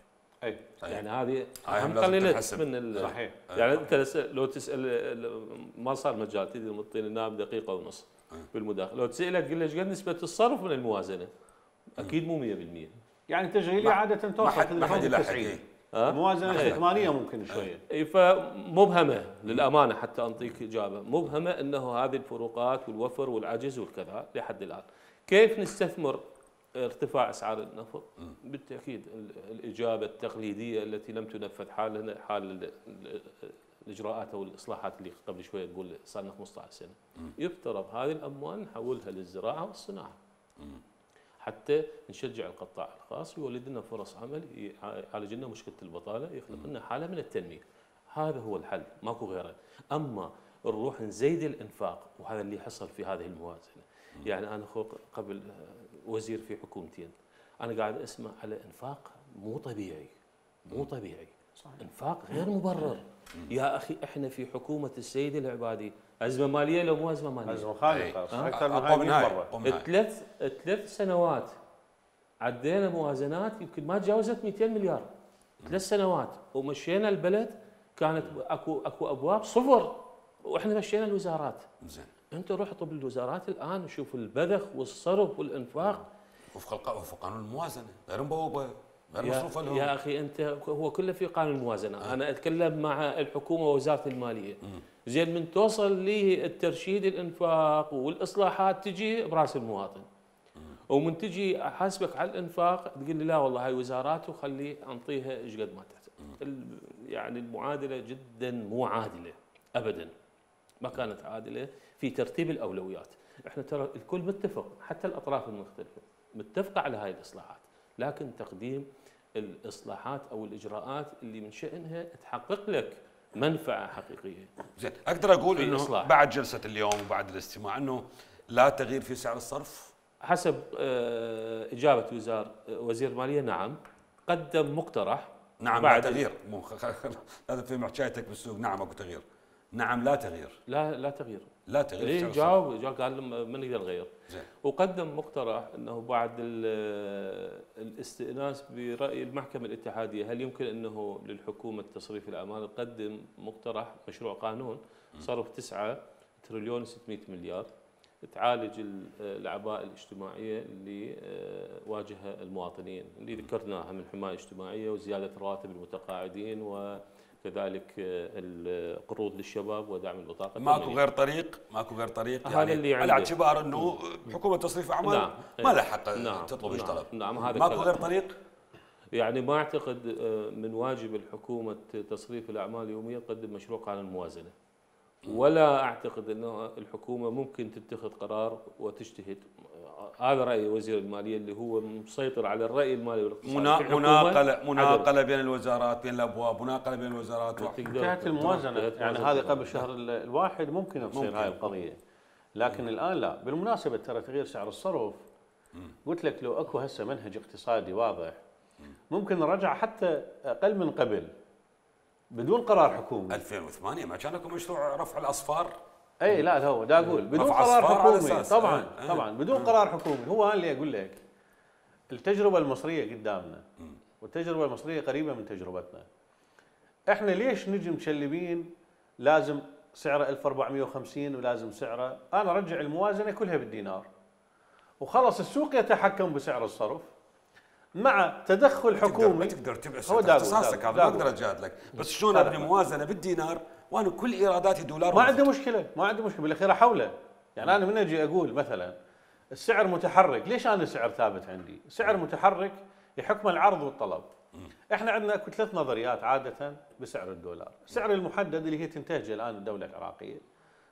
اي
يعني هذه
خلينا
من
صحيح.
يعني انت لو تسال ما صار مجال تدري مطين النائب دقيقه ونص بالمداخله لو تساله تقول له ايش قد نسبه الصرف من الموازنه اكيد مو 100%.
يعني تشغيليه عاده توصل
ما حد يلحق.
الموازنه الاستثماريه ممكن شويه.
اي فمبهمه للامانه حتى انطيك اجابه مبهمه انه هذه الفروقات والوفر والعجز والكذا لحد الان. كيف نستثمر ارتفاع اسعار النفط بالتاكيد الاجابه التقليديه التي لم تنفذ حال الاجراءات او الاصلاحات اللي قبل شويه نقول صار لنا 15 سنه. يفترض هذه الاموال نحولها للزراعه والصناعه. حتى نشجع القطاع الخاص ويولد لنا فرص عمل، يعالج لنا مشكله البطاله، يخلق لنا حاله من التنميه. هذا هو الحل، ماكو غيره. اما نروح نزيد الانفاق، وهذا اللي حصل في هذه الموازنه. يعني انا قبل وزير في حكومتين، انا قاعد اسمع على انفاق مو طبيعي، مو طبيعي. صحيح. انفاق غير مبرر. يا اخي احنا في حكومه السيد العبادي، ازمه ماليه لو مو ازمه ماليه؟
ازمه خانقه اكثر من هاي 100 مره.
ثلاث سنوات عدينا موازنات يمكن ما تجاوزت 200 مليار. 3 سنوات ومشينا البلد، كانت اكو ابواب صفر، واحنا مشينا الوزارات.
زين.
انت روح طب الوزارات الان وشوف البذخ والصرف والانفاق
وفق قانون الموازنه، غير مبوبه، غير مصروفه لهم.
يا اخي انت هو كله في قانون الموازنه. انا اتكلم مع الحكومه ووزاره الماليه. زين من توصل لي الترشيد الانفاق والاصلاحات تجي براس المواطن. ومن تجي احاسبك على الانفاق تقول لي لا والله هاي وزارات وخلي انطيها ايش قد ما تحتاج. يعني المعادله جدا مو عادله ابدا. ما كانت عادله في ترتيب الاولويات. احنا ترى الكل متفق، حتى الاطراف المختلفه متفقه على هاي الاصلاحات، لكن تقديم الاصلاحات او الاجراءات اللي من شانها تحقق لك منفعه حقيقيه.
زين، اقدر اقول انه بعد جلسه اليوم وبعد الاستماع انه لا تغيير في سعر الصرف؟
حسب اجابه وزير الماليه نعم، قدم مقترح.
نعم لا تغيير، هذا في حكايتك بالسوق. نعم اكو تغيير، نعم لا تغيير.
لا تغيير.
لا تغيير.
إيه جاوب قال ما نقدر نغير.
زين.
وقدم مقترح انه بعد الاستئناس براي المحكمه الاتحاديه هل يمكن انه للحكومه تصريف الاعمال تقدم مقترح مشروع قانون صرف 9 تريليون و600 مليار تعالج الاعباء الاجتماعيه اللي واجهها المواطنين اللي ذكرناها من حمايه اجتماعيه وزياده رواتب المتقاعدين وكذلك القروض للشباب ودعم البطاقه.
ماكو غير طريق، ماكو غير طريق
يعني اللي
على اعتبار انه حكومه تصريف اعمال
نعم.
ما لها حق تطلب ايش طلب.
نعم هذا
ماكو غير طريق.
يعني ما اعتقد من واجب الحكومه تصريف الاعمال اليوميه تقدم مشروع قانون موازنه. ولا اعتقد انه الحكومه ممكن تتخذ قرار وتجتهد. هذا راي وزير الماليه اللي هو مسيطر على الراي المالي والاقتصادي.
مناقله بين الوزارات، بين الابواب، مناقله بين الوزارات.
حكايه الموازنه يعني هذه قبل شهر الواحد ممكن تصير هاي القضيه، لكن الان لا. بالمناسبه ترى تغيير سعر الصرف قلت لك لو اكو هسه منهج اقتصادي واضح ممكن نرجع حتى اقل من قبل بدون قرار حكومي.
2008 ما كان لكم مشروع رفع الاصفار؟
اي لا هو دا اقول بدون قرار حكومي طبعا. طبعا بدون قرار حكومي. هو انا اللي اقول لك التجربه المصريه قدامنا والتجربه المصريه قريبه من تجربتنا. احنا ليش نجي مشلبين لازم سعره 1450 ولازم سعره، انا ارجع الموازنه كلها بالدينار وخلص السوق يتحكم بسعر الصرف مع تدخل حكومي.
ما تقدر تبعث اختصاصك هذا، ما اقدر اجادلك، بس شلون ابني موازنه بالدينار وانا كل ايراداتي دولار؟
ما عندي مشكله، ما عندي مشكله، بالاخير احوله. يعني انا من اجي اقول مثلا السعر متحرك، ليش انا السعر ثابت عندي؟ سعر متحرك يحكم العرض والطلب. احنا عندنا اكو 3 نظريات عاده بسعر الدولار. السعر المحدد اللي هي تنتهجه الان الدوله العراقيه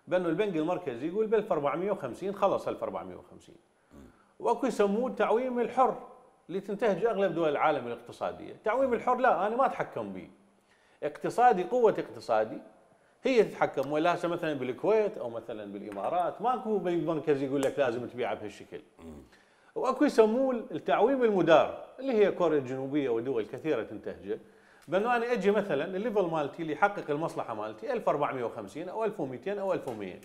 بانه البنك المركزي يقول ب 1450 خلص 1450. واكو يسموه التعويم الحر اللي تنتهج اغلب دول العالم الاقتصاديه. التعويم الحر لا انا ما اتحكم به. اقتصادي قوه اقتصادي هي تتحكم. ولا هسه مثلا بالكويت او مثلا بالامارات ماكو بنك مركزي يقول لك لازم تبيعه بهالشكل. واكو يسموه التعويم المدار اللي هي كوريا الجنوبيه ودول كثيره تنتهجه، بانه انا اجي مثلا الليفل مالتي اللي يحقق المصلحه مالتي 1450 او 1200 او 1100.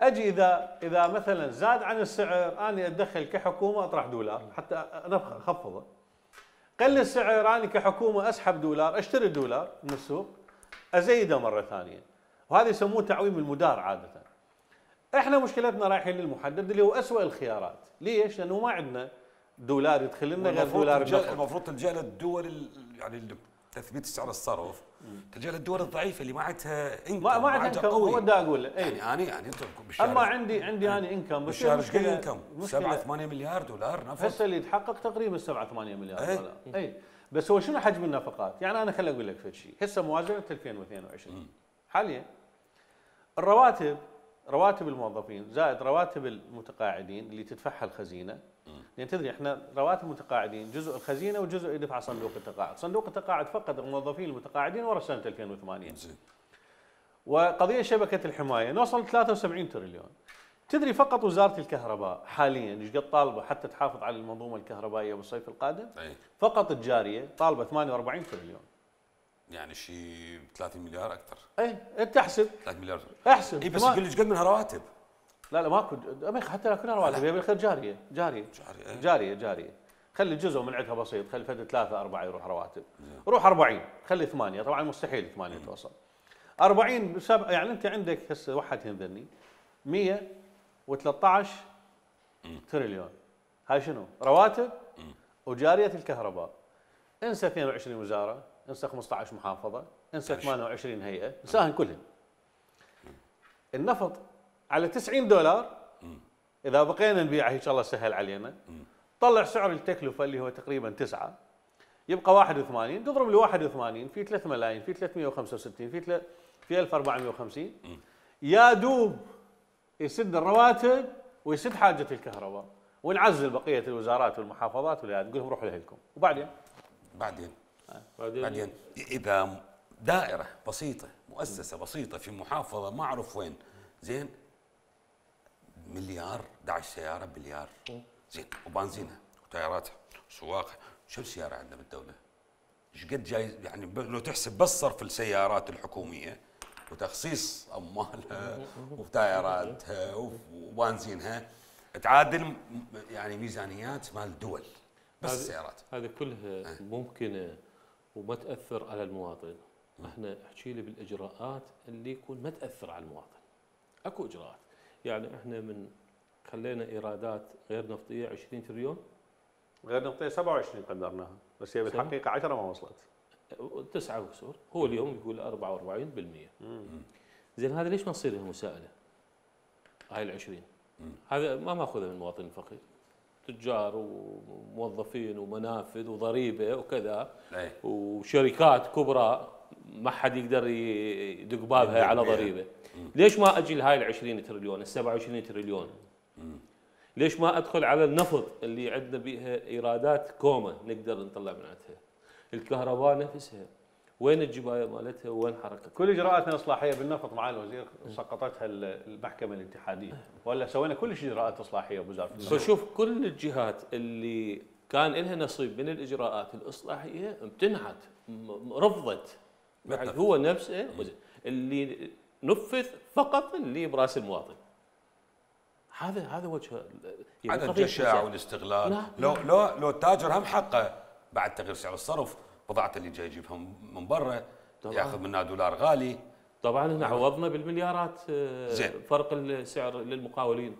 اجي اذا مثلا زاد عن السعر اني اتدخل كحكومه اطرح دولار حتى انا اخفضه. قل السعر اني كحكومه اسحب دولار، اشتري الدولار من السوق ازيده مره ثانيه. وهذا يسموه تعويم المدار عاده. احنا مشكلتنا رايحين للمحدد اللي هو اسوء الخيارات. ليش؟ لانه ما عندنا دولار يدخل لنا غير دولار النفط.
المفروض تلجا للدول يعني تثبيت سعر الصرف تلجا للدول الضعيفه اللي ما عندها انكم
ما عندها انكم، هو دا اقول له
يعني انت
اما عندي انا انكم بس
بالشهر ايش قد انكم؟ 7 8 مليار دولار نفط
هسه اللي يتحقق تقريبا 7 8 مليار دولار. اي بس هو شنو حجم النفقات؟ يعني انا خليني اقول لك فد شيء، هسه موازنه 2022 حاليا رواتب الموظفين زائد رواتب المتقاعدين اللي تدفعها الخزينه، لان تدري احنا رواتب المتقاعدين جزء الخزينه وجزء يدفع صندوق التقاعد، صندوق التقاعد فقط الموظفين المتقاعدين ورا سنه 2008. وقضيه شبكه الحمايه نوصل 73 تريليون. تدري فقط وزاره الكهرباء حاليا ايش قد طالبه حتى تحافظ على المنظومه الكهربائيه بالصيف القادم؟ فقط الجاريه طالبه 48 تريليون.
يعني شيء 30 مليار اكثر.
انت احسب
3 مليار
احسب.
بس يقول لي ايش قد منها رواتب؟
لا ماكو حتى لا كلها رواتب، هي بالخير جاريه. خلي جزء من عندها بسيط، خلي فد 3 4 يروح رواتب. روح 40 خلي 8، طبعا مستحيل 8 توصل. 40 يعني انت عندك هسه واحد ينذرني 113 تريليون. هاي شنو؟ رواتب وجاريه الكهرباء. انسى 22 وزاره، انسى 15 محافظه، انسى 28 هيئه، انساهن كلهن. النفط على 90 دولار اذا بقينا نبيعه ان شاء الله سهل علينا، طلع سعر التكلفه اللي هو تقريبا 9، يبقى 81، تضرب ل 81 في 3 ملايين في 365 في 1450 يا دوب يسد الرواتب ويسد حاجه الكهرباء، ونعزل بقيه الوزارات والمحافظات والهيئات نقول لهم روحوا لهلكم. وبعدين
بعدين اذا دائره بسيطه مؤسسه بسيطه في محافظه ما اعرف وين، زين مليار 11 سياره بليار، زين وبنزينها وتياراتها وسواقها، شو السياره عندنا بالدوله؟ ايش قد جاي يعني لو تحسب بس صرف السيارات الحكوميه وتخصيص اموالها وتايراتها وبنزينها تعادل يعني ميزانيات مال دول بس السيارات.
هذه كلها ممكنه وما تاثر على المواطن. احنا احكي لي بالاجراءات اللي يكون ما تاثر على المواطن. اكو اجراءات، يعني احنا من خلينا ايرادات غير نفطيه 20 تريليون،
غير نفطيه 27 قدرناها، بس هي بالحقيقه 10 ما وصلت.
9 وكسور، هو اليوم يقول 44%. زين هذا ليش ما تصير مساءله؟ هاي ال 20 هذا ما ماخذها من المواطن الفقير، تجار وموظفين ومنافذ وضريبه وكذا وشركات كبرى ما حد يقدر يدق بابها على ضريبه. ليش ما اجي لهاي ال 20 تريليون ال 27 تريليون؟ ليش ما ادخل على النفط اللي عندنا بيها ايرادات كومه نقدر نطلع من عندها؟ الكهرباء نفسها وين الجبايه مالتها وين حركتها؟
كل اجراءاتنا الاصلاحيه بالنفط مع الوزير سقطتها المحكمه الاتحاديه، ولا سوينا كل شيء اجراءات اصلاحيه بوزاره النفط.
فشوف كل الجهات اللي كان لها نصيب من الاجراءات الاصلاحيه امتنعت، رفضت. هو نفسه اللي نفذ فقط اللي براس المواطن. هذا وجه
يعني هذا الجشع والاستغلال. لو التاجر هم حقه بعد تغيير سعر الصرف، بضاعته اللي جاي يجيبها من برا ياخذ منها دولار غالي.
طبعا احنا عوضنا بالمليارات فرق السعر للمقاولين.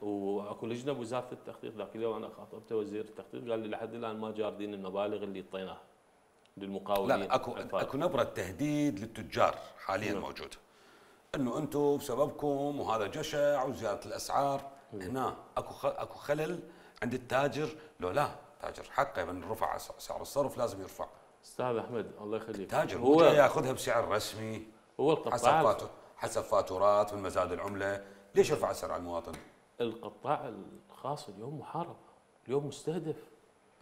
واكو لجنه بوزاره التخطيط، ذاك اليوم انا خاطبته وزير التخطيط قال لي لحد الان ما جاردين المبالغ اللي اعطيناها للمقاولين.
لا اكو نبره تهديد للتجار حاليا موجوده، انه انتم بسببكم وهذا جشع وزياده الاسعار. هنا اكو خلل عند التاجر. لو لا تاجر حقه من رفع سعر الصرف لازم يرفع.
استاذ احمد الله يخليك،
التاجر هو جاي ياخذها بسعر رسمي،
هو القطاع
حسب فاتورات من مزاد العمله. ليش يرفع السعر على المواطن؟
القطاع الخاص اليوم محارب، اليوم مستهدف،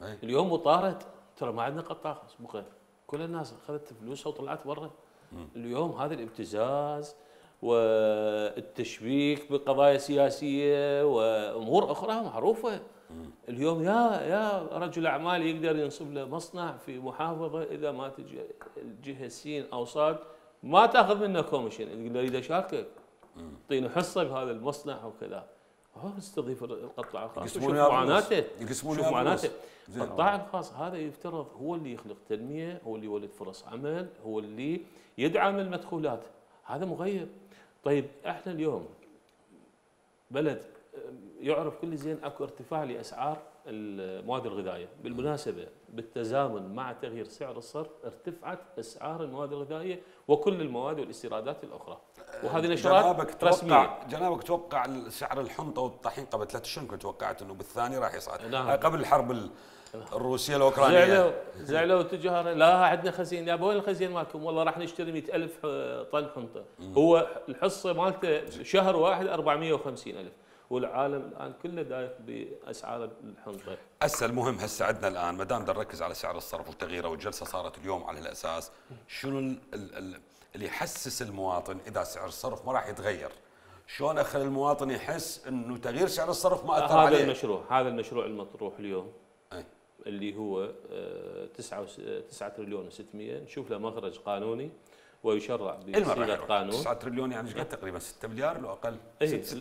اليوم مطارد. ترى ما عندنا قطاع خاص مو غير، كل الناس اخذت فلوسها وطلعت برا. اليوم هذا الابتزاز والتشبيك بقضايا سياسيه وامور اخرى معروفه. اليوم يا رجل اعمال يقدر ينصب له مصنع في محافظه، اذا ما تجي الجهه سين او صاد ما تاخذ منه كوميشن، يقول اريد اشاركك اعطيني حصه بهذا المصنع وكذا. هو يستضيف القطاع الخاص، شوف معاناته، شوف معاناته. القطاع الخاص هذا يفترض هو اللي يخلق تنميه، هو اللي يولد فرص عمل، هو اللي يدعم المدخولات. هذا مغيب. طيب احنا اليوم بلد يعرف كل زين اكو ارتفاع لاسعار المواد الغذائيه. بالمناسبه بالتزامن مع تغيير سعر الصرف ارتفعت اسعار المواد الغذائيه وكل المواد والاستيرادات الاخرى، وهذه نشرات رسميه.
جنابك توقع سعر الحنطه والطحين قبل 3 اشهر، كنت توقعت انه بالثاني راح يصعد.
نعم.
قبل الحرب الروسيه الاوكرانيه
زعلوا التجار، لا عندنا خزين. يا وين الخزين مالكم؟ والله راح نشتري 100,000 طن حنطه. هو الحصه مالته شهر واحد 450,000، والعالم الان كله دايخ باسعار الحنطه.
هسه المهم هسه عندنا الان ما دام نركز على سعر الصرف وتغييره، والجلسه صارت اليوم على الاساس شنو اللي يحسس المواطن اذا سعر الصرف ما راح يتغير، شلون اخلي المواطن يحس انه تغيير سعر الصرف ما اثر عليه.
هذا المشروع المطروح اليوم
أي.
اللي هو 9 تريليون و600 نشوف له مخرج قانوني ويشرع بصيغه قانون.
9 تريليون يعني ايش قد تقريبا 6 مليار لو اقل.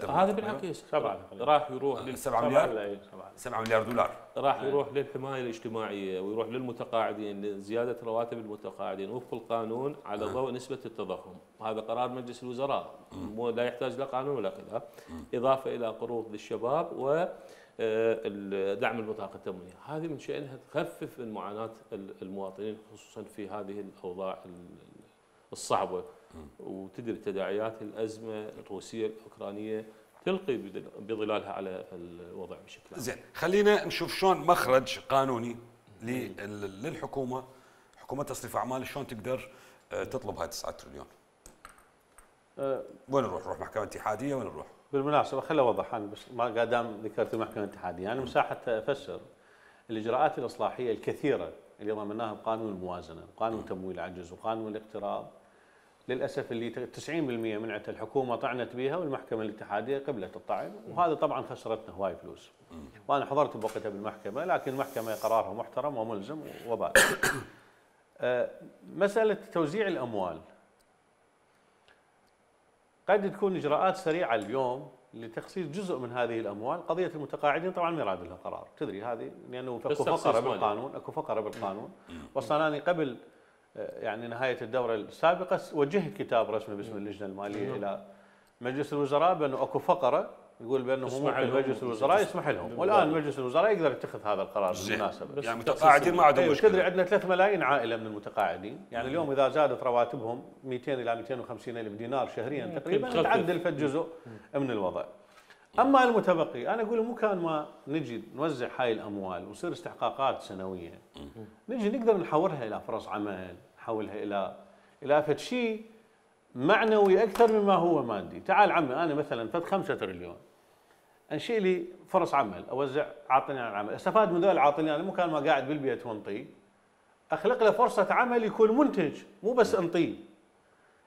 هذا بالعكس
7
راح يروح
7 مليار 7 مليار دولار
راح يروح للحمايه الاجتماعيه ويروح للمتقاعدين لزياده رواتب المتقاعدين وفق القانون على ضوء نسبه التضخم. هذا قرار مجلس الوزراء لا يحتاج لا قانون ولا خلاف. اضافه الى قروض للشباب و دعم البطاقه التموينيه. هذه من شأنها تخفف من معاناه المواطنين خصوصا في هذه الاوضاع الصعبه، وتدري تداعيات الازمه الروسيه الاوكرانيه تلقي بظلالها على الوضع بشكل عام.
زين، خلينا نشوف شلون مخرج قانوني للحكومه، حكومه تصريف اعمال، شلون تقدر تطلب هاي 9 تريليون. وين نروح محكمه اتحاديه؟ وين نروح؟
بالمناسبه خليني اوضح انا بس ما دام ذكرت المحكمه الاتحاديه، يعني مساحه افسر الاجراءات الاصلاحيه الكثيره اللي ضمناها بقانون الموازنه وقانون تمويل العجز وقانون الاقتراض، للاسف اللي 90% منعت الحكومه طعنت بها والمحكمه الاتحاديه قبلت الطعن، وهذا طبعا خسرتنا هواي فلوس. وانا حضرت بوقتها بالمحكمه، لكن المحكمه قرارها محترم وملزم وبال. مساله توزيع الاموال قد تكون اجراءات سريعه اليوم لتخصيص جزء من هذه الاموال. قضيه المتقاعدين طبعا ما يراد لها قرار، تدري هذه لانه اكو فقره بالقانون، اكو فقره بالقانون. واصلا انا قبل يعني نهايه الدوره السابقه وجهت كتاب رسمي باسم اللجنه الماليه الى مجلس الوزراء بانه اكو فقره يقول بانه ممكن مجلس الوزراء يسمح لهم، والان مجلس الوزراء يقدر يتخذ هذا القرار بالمناسبه.
يعني المتقاعدين ما عندهم مشكله.
تدري عندنا 3 ملايين عائله من المتقاعدين، يعني اليوم اذا زادت رواتبهم 200 الى 250 الف دينار شهريا تقريبا تعدل فد جزء من الوضع. اما المتبقي انا اقول مو كان ما نجي نوزع هاي الاموال ويصير استحقاقات سنويه، نجي نقدر نحولها الى فرص عمل، نحولها الى فد شيء معنوي اكثر مما هو مادي. تعال عمي انا مثلا فد 5 تريليون انشئ لي فرص عمل، اوزع عاطني عن العمل، استفاد من ذول العاطني، انا مو كان ما قاعد بالبيت وانطي، اخلق له فرصه عمل يكون منتج مو بس انطيه.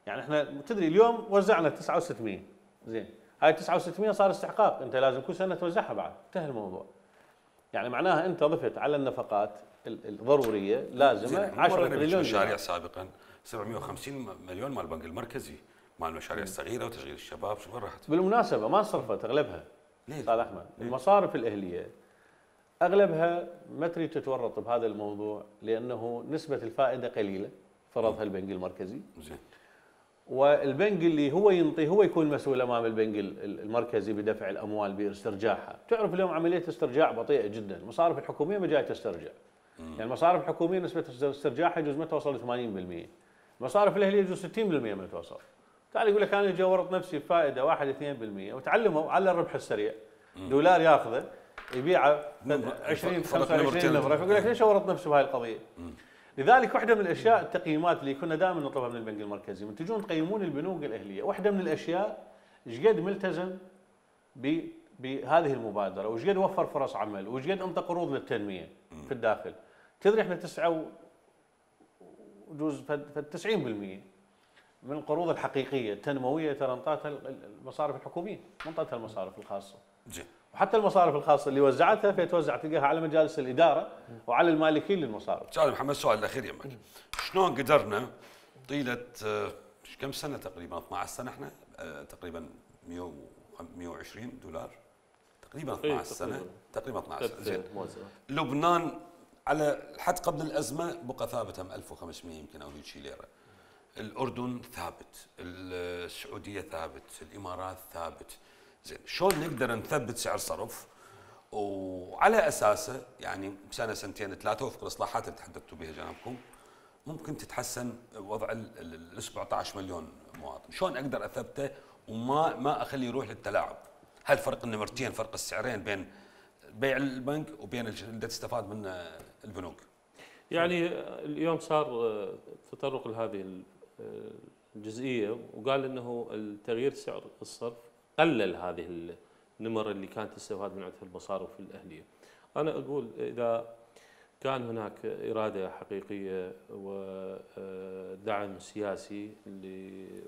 يعني احنا تدري اليوم وزعنا 9,600 زين، هاي 9,600 صار استحقاق، انت لازم كل سنه توزعها بعد، انتهى الموضوع. يعني معناها انت ضفت على النفقات الضروريه لازمه 10 تريليون.
مشاريع سابقا 750 مليون مال البنك المركزي مال المشاريع الصغيره وتشغيل الشباب، شو وين راحت؟
بالمناسبه ما انصرفت اغلبها. ليه؟ استاذ احمد، المصارف الاهليه اغلبها ما تريد تتورط بهذا الموضوع لانه نسبه الفائده قليله فرضها البنك المركزي.
زين.
والبنك اللي هو ينطي هو يكون مسؤول امام البنك المركزي بدفع الاموال باسترجاعها. تعرف اليوم عمليه استرجاع بطيئه جدا، المصارف الحكوميه ما جايه تسترجع. يعني المصارف الحكوميه نسبه استرجاعها يجوز ما توصل 80%. المصارف الاهليه يجوز 60% ما توصل. تعال يقول لك انا اجي اورط نفسي بفائده 1-2% وتعلموا على الربح السريع. دولار ياخذه يبيعه 20 25 نفر، فيقول لك ليش اورط نفسي بهاي القضيه؟ لذلك واحده من الاشياء التقييمات اللي كنا دائما نطلبها من البنك المركزي، من تجون تقيمون البنوك الاهليه، واحده من الاشياء ايش قد ملتزم بهذه المبادره، وايش قد وفر فرص عمل، وايش قد انطى قروض للتنميه في الداخل. تدري احنا 9 وجوز 90% من القروض الحقيقيه التنمويه ترى انطتها المصارف الحكوميه، ما انطتها المصارف الخاصه.
زين.
وحتى المصارف الخاصه اللي وزعتها فتوزع تلقاها على مجالس الاداره وعلى المالكين للمصارف.
استاذ محمد، السؤال الاخير يمك، شلون قدرنا طيله كم سنه تقريبا 12 سنه احنا تقريبا 120 دولار تقريبا 12 سنه تقريبا 12 سنه. زين. لبنان على حد قبل الازمه بقى ثابته 1500 يمكن او شيء ليره. الاردن ثابت، السعوديه ثابت، الامارات ثابت. زين، شلون نقدر نثبت سعر صرف وعلى اساسه يعني سنه سنتين ثلاثه وفق الاصلاحات اللي تحدثتوا بها جنابكم ممكن تتحسن وضع ال 17 مليون مواطن، شلون اقدر اثبته وما اخليه يروح للتلاعب؟ هل فرق النمرتين فرق السعرين بين بيع البنك وبين اللي تستفاد منه البنوك؟
يعني اليوم صار تطرق لهذه الجزئيه وقال انه التغيير سعر الصرف قلل هذه النمر اللي كانت تستفاد من عندها المصارف الاهليه. انا اقول اذا كان هناك اراده حقيقيه ودعم سياسي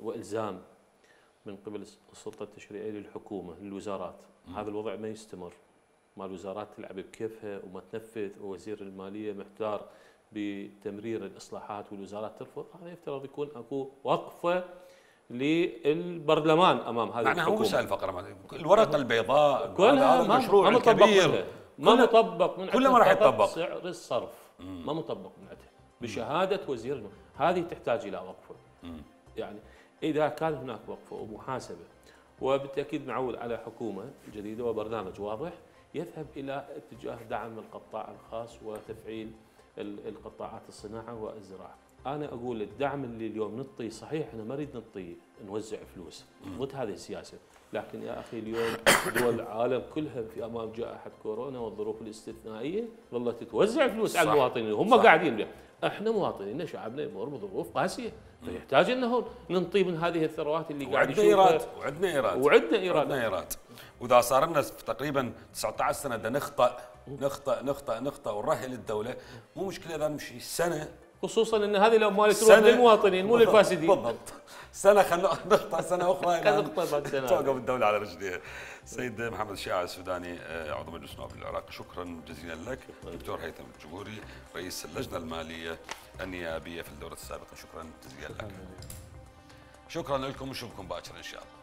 والزام من قبل السلطه التشريعيه للحكومه للوزارات، هذا الوضع ما يستمر. ما الوزارات تلعب بكيفها وما تنفذ، ووزير الماليه محتار بتمرير الاصلاحات والوزارات ترفض، هذا يفترض يكون اكو وقفه للبرلمان امام هذه الحكومه.
معناها مو سهل فقره، الورقه البيضاء
كلها
هذا المشروع الكبير
ما مطبق من
كله ما راح يطبق.
سعر الصرف ما مطبق من عندها بشهاده وزير الماليه، هذه تحتاج الى وقفه. يعني اذا كان هناك وقفه ومحاسبه وبالتاكيد نعول على حكومه جديده وبرنامج واضح يذهب الى اتجاه دعم القطاع الخاص وتفعيل القطاعات الصناعه والزراعه. انا اقول الدعم اللي اليوم نعطيه صحيح احنا ما نريد نعطي نوزع فلوس، ضد هذه السياسه، لكن يا اخي اليوم دول العالم كلها في امام جائحه كورونا والظروف الاستثنائيه ظلت توزع فلوس على المواطنين هم قاعدين بها. احنا مواطنينا شعبنا يمر بظروف قاسيه فيحتاج انه ننطي من هذه الثروات اللي قاعد يشوفها.
وعندنا ايراد واذا صار لنا تقريبا 19 سنه بدنا نخطأ ونرهل الدوله، مو مشكله اذا نمشي سنه،
خصوصا ان هذه الاموال تروح للمواطنين مو للفاسدين.
بالضبط، سنه خلينا نخطأ سنه اخرى
توقف
الدوله على رجليها. سيد محمد الشاعر السوداني عضو مجلس النواب العراقي، شكرا جزيلا لك. دكتور هيثم الجبوري رئيس اللجنه الماليه النيابيه في الدوره السابقه، شكرا جزيلا لك. شكرا لكم ونشوفكم باكر ان شاء الله.